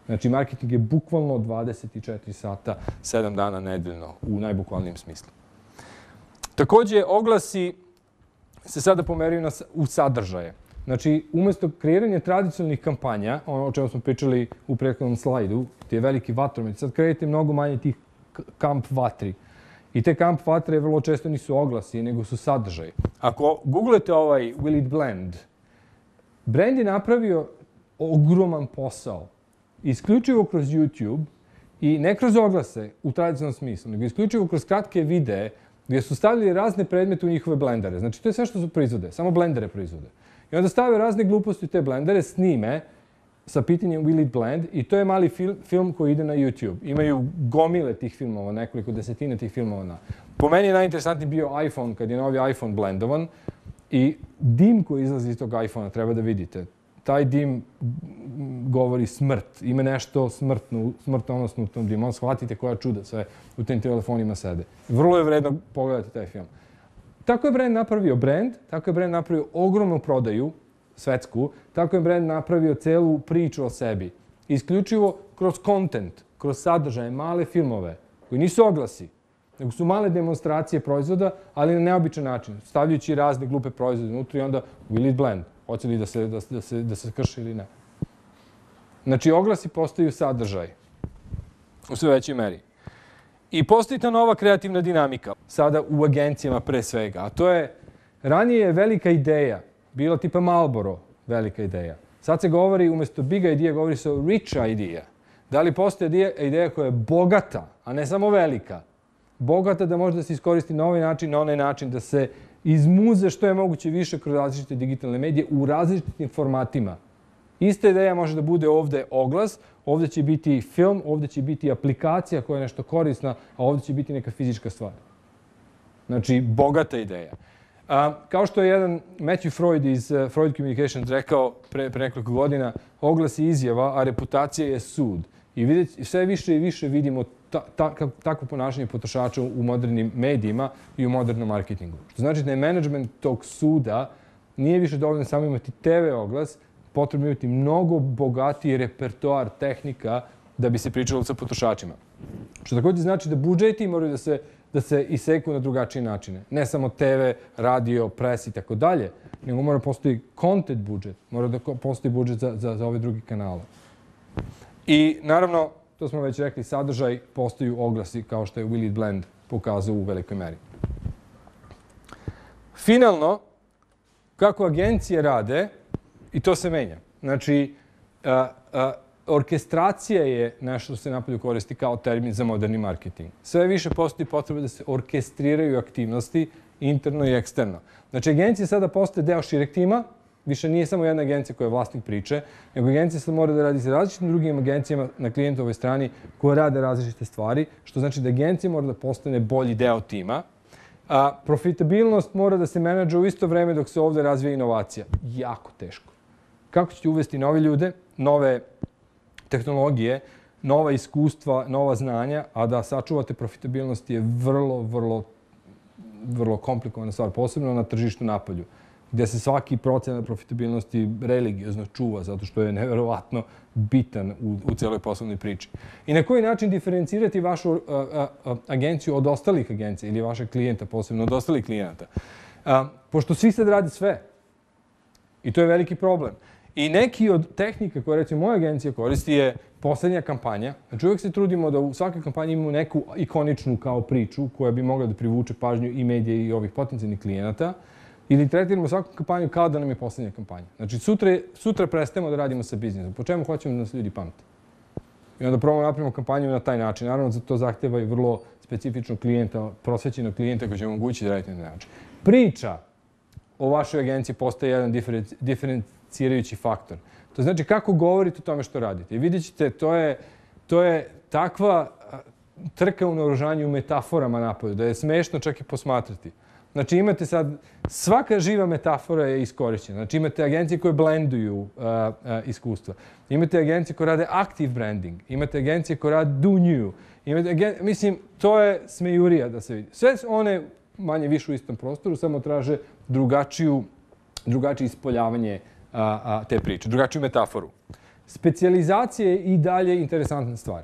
Znači, marketing je bukvalno dvadeset četiri sata, sedam dana nedeljno, u najbukvalnijem smislu. Takođe, oglasi se sada pomeraju na, u sadržaje. Znači, umjesto kreiranja tradicionalnih kampanja, ono o čemu smo pričali u prethodnom slajdu, ti je veliki vatromet, sad kreirate mnogo manje tih kamp vatri. I te kamp vatre vrlo često nisu oglasi, nego su sadržaji. Ako googlete ovaj Will It Blend, brand je napravio ogroman posao. Isključivo kroz YouTube i ne kroz oglase u tradicionalnom smislu, nego isključivo kroz kratke videe gdje su stavili razne predmete u njihove blendere. Znači, to je sve što su proizvode, samo blendere proizvode. I onda stave razne gluposti u te blendere, snime sa pitanjem Will it blend i to je mali film, film koji ide na YouTube. Imaju gomile tih filmova, nekoliko desetina tih filmova. Na. Po meni je najinteresantniji bio iPhone, kad je novi iPhone blendovan i dim koji izlazi iz tog iPhona, treba da vidite. Taj dim govori smrt. Ima nešto smrtno, smrtonosno u tom dimu. On shvatite koja čuda sve u tim telefonima sede. Vrlo je vredno pogledati taj film. Tako je brand napravio brand, tako je brand napravio ogromnu prodaju, svetsku, tako je brand napravio celu priču o sebi. Isključivo kroz content, kroz sadržaje, male filmove, koji nisu oglasi, nego su male demonstracije proizvoda, ali na neobičan način, stavljajući razne glupe proizvode unutra i onda will it blend, hoće li da se, da, da se, da se krši ili ne. Znači, oglasi postaju sadržaj u sve većoj meri. I postoji ta nova kreativna dinamika, sada u agencijama pre svega, a to je, ranije je velika ideja, bila tipa Marlboro, velika ideja. Sad se govori, umjesto big idea, govori se o rich idea. Da li postoji ideja koja je bogata, a ne samo velika, bogata da može da se iskoristi na ovaj način, na onaj način, da se izmuze što je moguće više kroz različite digitalne medije u različitim formatima. Ista ideja može da bude ovde oglas, ovde će biti film, ovde će biti aplikacija koja je nešto korisna, a ovde će biti neka fizička stvar. Znači, bogata ideja. A, kao što je jedan Matthew Freud iz uh, Freud Communications rekao pre, pre nekoliko godina, oglas je izjava, a reputacija je sud. I vidjeti, sve više i više vidimo ta, ta, takvo ponašanje potrošača u modernim medijima i u modernom marketingu. Što znači da je menadžment tog suda nije više dovoljno samo imati te ve oglas, potrebno imati mnogo bogatiji repertoar tehnika da bi se pričalo sa potrošačima. Što također znači da budžeti moraju da se, da se iseku na drugačije načine. Ne samo te ve, radio, pres i tako dalje, nego mora postoji content budžet, mora da postoji budžet za, za, za ove drugi kanale. I naravno, to smo već rekli, sadržaj postaju oglasi kao što je Will it blend pokazao u velikoj meri. Finalno, kako agencije rade, i to se menja. Znači, a, a, orkestracija je nešto što se napolju koristi kao termin za moderni marketing. Sve više postoji potreba da se orkestriraju aktivnosti interno i eksterno. Znači, agencija sada postaje deo šireg tima, više nije samo jedna agencija koja je vlasnik priče, nego agencija sad mora da radi sa različitim drugim agencijama na klijentovoj strani koje rade različite stvari, što znači da agencija mora da postane bolji deo tima. A profitabilnost mora da se menadža u isto vreme dok se ovde razvija inovacija. Jako teško. Kako ćete uvesti nove ljude, nove tehnologije, nova iskustva, nova znanja, a da sačuvate profitabilnost je vrlo, vrlo, vrlo komplikovana stvar, posebno na tržištu napolju, gdje se svaki procenat profitabilnosti religiozno čuva, zato što je neverovatno bitan u, u cijeloj poslovnoj priči. I na koji način diferencirati vašu a, a, a, agenciju od ostalih agencija ili vašeg klijenta, posebno od ostalih klijenata? A, pošto svi sad radi sve. I to je veliki problem. I neki od tehnika koje, recimo, moja agencija koristi je poslednja kampanja. Znači, uvijek se trudimo da u svakoj kampanji imamo neku ikoničnu kao priču koja bi mogla da privuče pažnju i medije i ovih potencijalnih klijenata. Ili tretiramo svaku kampanju kao da nam je poslednja kampanja. Znači, sutra, sutra prestajemo da radimo sa biznisom. Po čemu hoćemo da nas ljudi pamte? I onda probamo napravimo kampanju na taj način. Naravno, to zahteva i vrlo specifičnog klijenta, prosvećenog klijenta koji će omogućiti da radite na taj način. Priča o vašoj agenciji postaje jedan diferencirajući faktor. To znači kako govorite o tome što radite. I vidjet ćete, to je, to je takva trka u naoružanju u metaforama napolju, da je smešno čak i posmatrati. Znači imate sad, svaka živa metafora je iskorišćena. Znači imate agencije koje blenduju uh, uh, iskustva. Imate agencije koje rade active branding. Imate agencije koje rade do new. Imate agen... Mislim, to je smejurija da se vidi. Sve one manje više u istom prostoru, samo traže drugačiju, drugačije ispoljavanje a, a, te priče, drugačiju metaforu. Specijalizacija je i dalje interesantna stvar.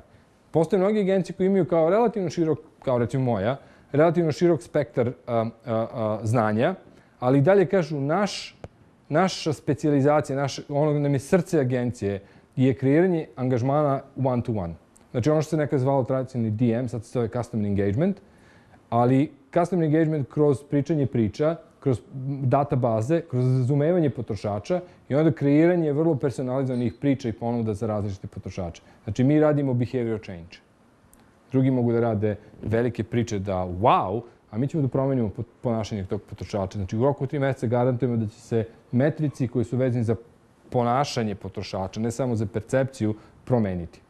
Postoje mnogi agencije koji imaju kao relativno širok, kao recimo moja, relativno širok spektar a, a, a, znanja, ali i dalje kažu naš, naša specijalizacija, naš, ono nam je srce agencije, je kreiranje angažmana one to one. Znači ono što se nekad zvalo tradicionalni D M, sad se zove Customer Engagement, ali Customer Engagement kroz pričanje priča, kroz databaze, kroz razumevanje potrošača i onda kreiranje vrlo personalizovanih priča i ponuda za različite potrošače. Znači mi radimo behavioral change. Drugi mogu da rade velike priče da wow, a mi ćemo da promenimo ponašanje tog potrošača. Znači u roku tri mjeseca garantujemo da će se metrici koji su vezani za ponašanje potrošača, ne samo za percepciju, promeniti.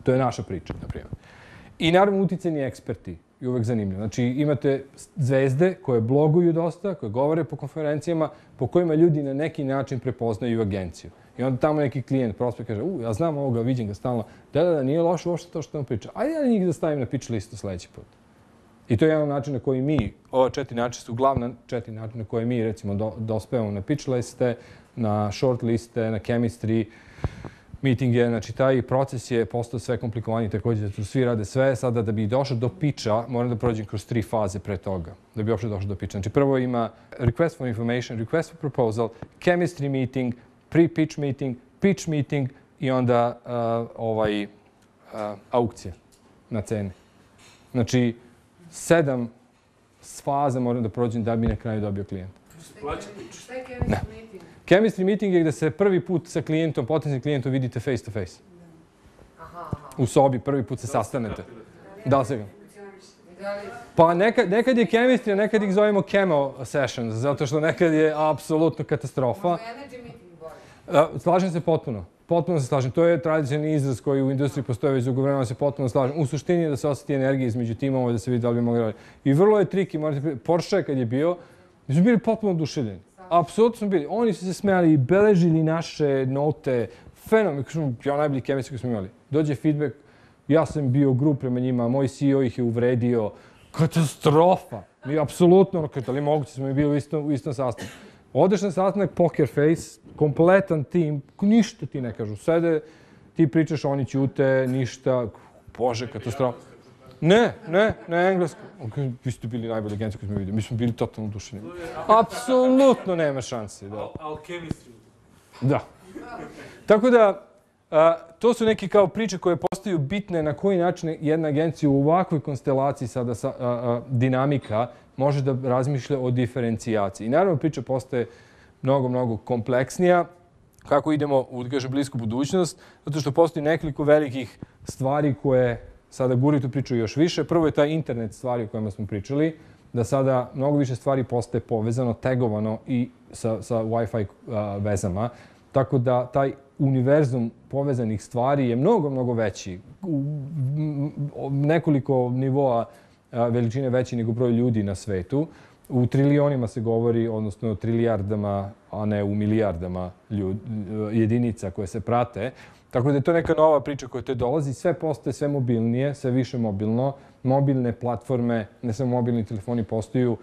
To je naša priča, na primjer. I naravno uticajni eksperti je uvek zanimljivo. Znači imate zvezde koje bloguju dosta, koje govore po konferencijama, po kojima ljudi na neki način prepoznaju agenciju. I onda tamo neki klijent prospekt kaže, u, ja znam ovoga, vidim ga stalno, da, da, da, nije loše uopšte to što nam priča. Ajde ja njih da stavim na pitch listu sledeći put. I to je jedan način na koji mi, ova četiri načina su glavna četiri načina na koje mi, recimo, do, dospevamo na pitch liste, na short liste, na chemistry, meetinge. Znači, taj proces je postao sve komplikovaniji, također da tu svi rade sve. Sada, da bi došao do pitcha, moram da prođem kroz tri faze pre toga, da bi uopšte došao do pitcha. Znači, prvo ima request for information, request for proposal, chemistry meeting, pre-pitch meeting, pitch meeting i onda uh, ovaj, uh, aukcija na cene. Znači, sedam faza moram da prođem da bi na kraju dobio klijenta. Šta je chemistry meeting? Chemistry meeting je gde se prvi put sa klijentom, potencijalnim klijentom vidite face to face. Aha, aha. U sobi prvi put se sastanete. Da li se ga? Pa nekad, nekad je chemistry, a nekad ih zovemo chemo sessions, zato što nekad je apsolutno katastrofa. Energy meeting bolje. Slažem se potpuno. Potpuno se slažem. To je tradicionalni izraz koji u industriji postoji već dugo vremena, se potpuno slažem. U suštini je da se osjeti energija između timova, da se vidi da li bi mogli raditi. I vrlo je triki, morate, Porsche kad je bio, mi smo bili potpuno oduševljeni. Apsolutno smo bili. Oni su se smijali i beležili naše note. Fenomen, ja najbolji chemistry koji smo imali. Dođe feedback, ja sam bio grup prema njima, moj C E O ih je uvredio. Katastrofa! Mi apsolutno, da li moguće, smo i bili u istom, u istom sastavu. Odeš na sastanak, poker face, kompletan tim, ništa ti ne kažu. Sede, ti pričaš, oni ćute, ništa. Bože, katastrofa. Ne, ne, ne englesko. Vi ste bili najbolji agencija koji smo vidjeli. Mi smo bili totalno oduševljeni. Apsolutno nema šanse. Da. Ali chemistry. Da. Tako da, a, to su neke kao priče koje postaju bitne na koji način jedna agencija u ovakvoj konstelaciji sada sa, a, a, dinamika može da razmišlja o diferencijaciji. I naravno priča postaje mnogo, mnogo kompleksnija kako idemo u, da kažem, blisku budućnost, zato što postoji nekoliko velikih stvari koje sada guri tu priču još više. Prvo je taj internet stvari o kojima smo pričali, da sada mnogo više stvari postaje povezano, tagovano i sa, sa Wi-Fi a, vezama. Tako da taj univerzum povezanih stvari je mnogo, mnogo veći. U nekoliko nivoa a, veličine veći nego broj ljudi na svetu. U trilionima se govori, odnosno trilijardama, a ne u milijardama ljud, jedinica koje se prate. Tako da je to neka nova priča koja te dolazi. Sve postaje sve mobilnije, sve više mobilno. Mobilne platforme, ne samo mobilni telefoni, postaju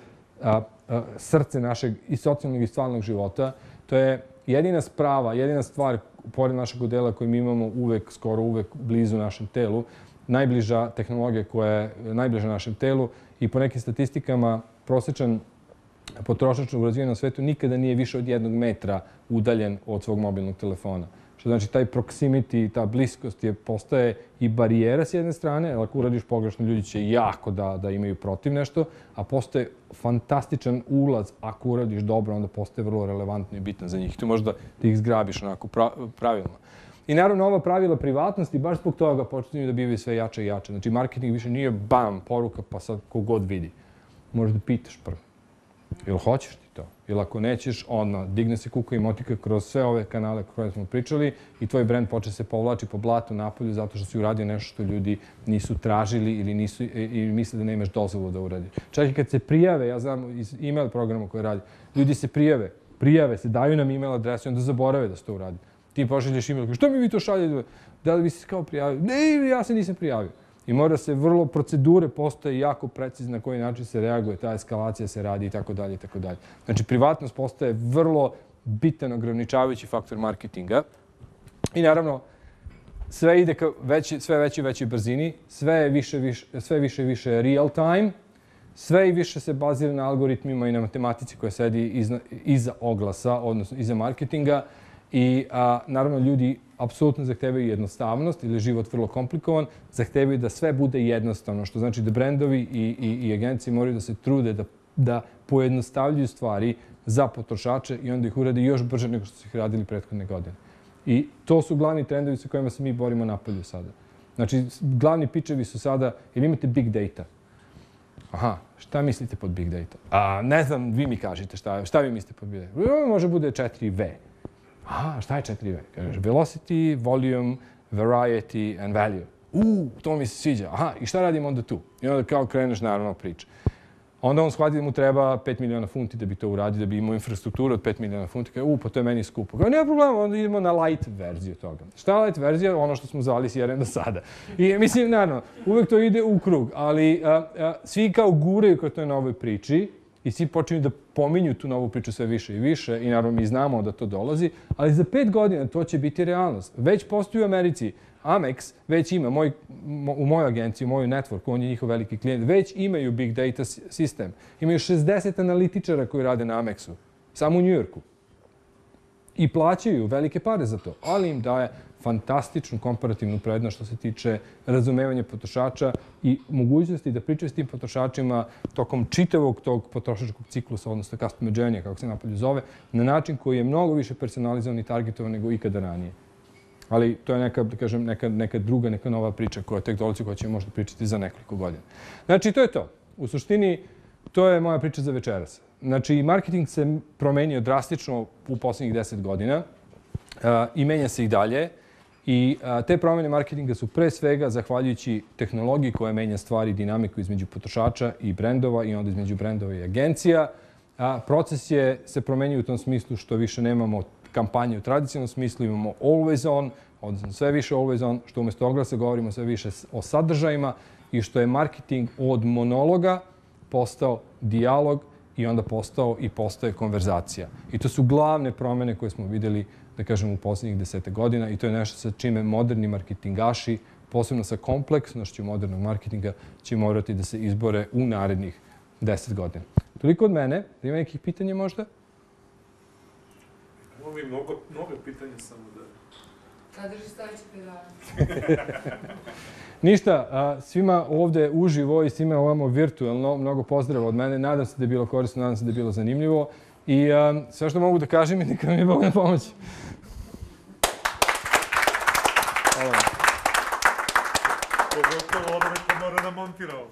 a, a, srce našeg i socijalnog i stvarnog života. To je jedina sprava, jedina stvar pored našeg odela koju mi imamo uvek, skoro uvek blizu našem telu. Najbliža tehnologija koja je najbliža našem telu i po nekim statistikama prosječan potrošač u razvijenom svetu nikada nije više od jednog metra udaljen od svog mobilnog telefona. Što znači taj proximity, ta bliskost je, postaje i barijera s jedne strane, jer ako uradiš pogrešno, ljudi će jako da, da imaju protiv nešto, a postaje fantastičan ulaz. Ako uradiš dobro, onda postaje vrlo relevantno i bitan za njih. Tu možda da ih zgrabiš onako pra, pravilno. I naravno, ova pravila privatnosti, baš zbog toga počinju da bivaju sve jače i jače. Znači, marketing više nije bam, poruka, pa sad kogod vidi. Možda pitaš prvo. Jel hoćeš ti to? Ili ako nećeš, onda digne se kuka i motika kroz sve ove kanale koje smo pričali i tvoj brend počne se povlači po blatu napolju zato što si uradio nešto što ljudi nisu tražili ili nisu i misle da nemaš dozvolu da uradi. Čak i kad se prijave, ja znam iz email programa koje radi, ljudi se prijave, prijave se, daju nam email adresu i onda zaborave da se to uradi. Ti pošalješ email, što mi vi to šaljete? Da li bi se kao prijavio? Ne, ja se nisam prijavio. I mora se vrlo, procedure postoje jako precizno na koji način se reaguje, ta eskalacija se radi i tako dalje i tako dalje. Znači, privatnost postaje vrlo bitan ograničavajući faktor marketinga. I naravno, sve ide ka veći, sve veći i većoj brzini, sve je više, više, sve više i više real time, sve i više se bazira na algoritmima i na matematici koja sedi iza, iza oglasa, odnosno iza marketinga. I a, naravno, ljudi apsolutno zahtevaju jednostavnost ili život vrlo komplikovan, zahtevaju da sve bude jednostavno, što znači da brendovi i, i, i agencije moraju da se trude da, da pojednostavljuju stvari za potrošače i onda ih urade još brže nego što su ih radili prethodne godine. I to su glavni trendovi sa kojima se mi borimo napolju sada. Znači, glavni pičevi su sada, ili imate big data. Aha, šta mislite pod big data? A, ne znam, vi mi kažete šta, šta vi mislite pod big data. Može bude četiri V. Aha, šta je četiri V? Kažeš, velocity, volume, variety and value. U, to mi se sviđa. Aha, i šta radimo onda tu? I onda kao kreneš naravno priča. Onda on shvati da mu treba pet miliona funti da bi to uradio, da bi imao infrastrukturu od pet miliona funti. Kaže, u, pa to je meni skupo. Kaže, nema problema, onda idemo na light verziju toga. Šta je light verzija? Ono što smo zvali C R M do sada. I mislim, naravno, uvek to ide u krug, ali a, a, svi kao guraju kao toj novoj priči i svi počinju da pominju tu novu priču sve više i više i naravno mi znamo da to dolazi, ali za pet godina to će biti realnost. Već postoji u Americi. Amex već ima, moj, u mojoj agenciji, u mojoj network, on je njihov veliki klijent, već imaju big data sistem. Imaju šezdeset analitičara koji rade na Amexu, samo u Njujorku. I plaćaju velike pare za to, ali im daje fantastičnu komparativnu prednost što se tiče razumevanja potrošača i mogućnosti da pričaju s tim potrošačima tokom čitavog tog potrošačkog ciklusa, odnosno customer journey, kako se napolju zove, na način koji je mnogo više personalizovan i targetovan nego ikada ranije. Ali to je neka, da kažem, neka, neka druga, neka nova priča koja tek dolazi, koja ćemo možda pričati za nekoliko godina. Znači, to je to. U suštini, to je moja priča za večeras. Znači, marketing se promenio drastično u poslednjih deset godina uh, i menja se i dalje. I uh, te promene marketinga su pre svega zahvaljujući tehnologiji koja menja stvari, dinamiku između potrošača i brendova i onda između brendova i agencija. A proces je se promenio u tom smislu što više nemamo kampanje u tradicionalnom smislu, imamo always on, odnosno sve više always on, što umjesto oglasa govorimo sve više o sadržajima i što je marketing od monologa postao dijalog i onda postao i postaje konverzacija. I to su glavne promene koje smo vidjeli, da kažem, u posljednjih desete godina i to je nešto sa čime moderni marketingaši, posebno sa kompleksnošću modernog marketinga, će morati da se izbore u narednih deset godina. Toliko od mene. Ima nekih pitanja možda? Imamo i mnogo, mnogo pitanja samo da... Kad drži sledeći predavanje? Ništa, a, svima ovde uživo i svima ovamo virtualno, mnogo pozdrava od mene. Nadam se da je bilo korisno, nadam se da je bilo zanimljivo. I a, sve što mogu da kažem je neka mi je Bog na pomoći. Pogotovo ono neko mora da montira ovo.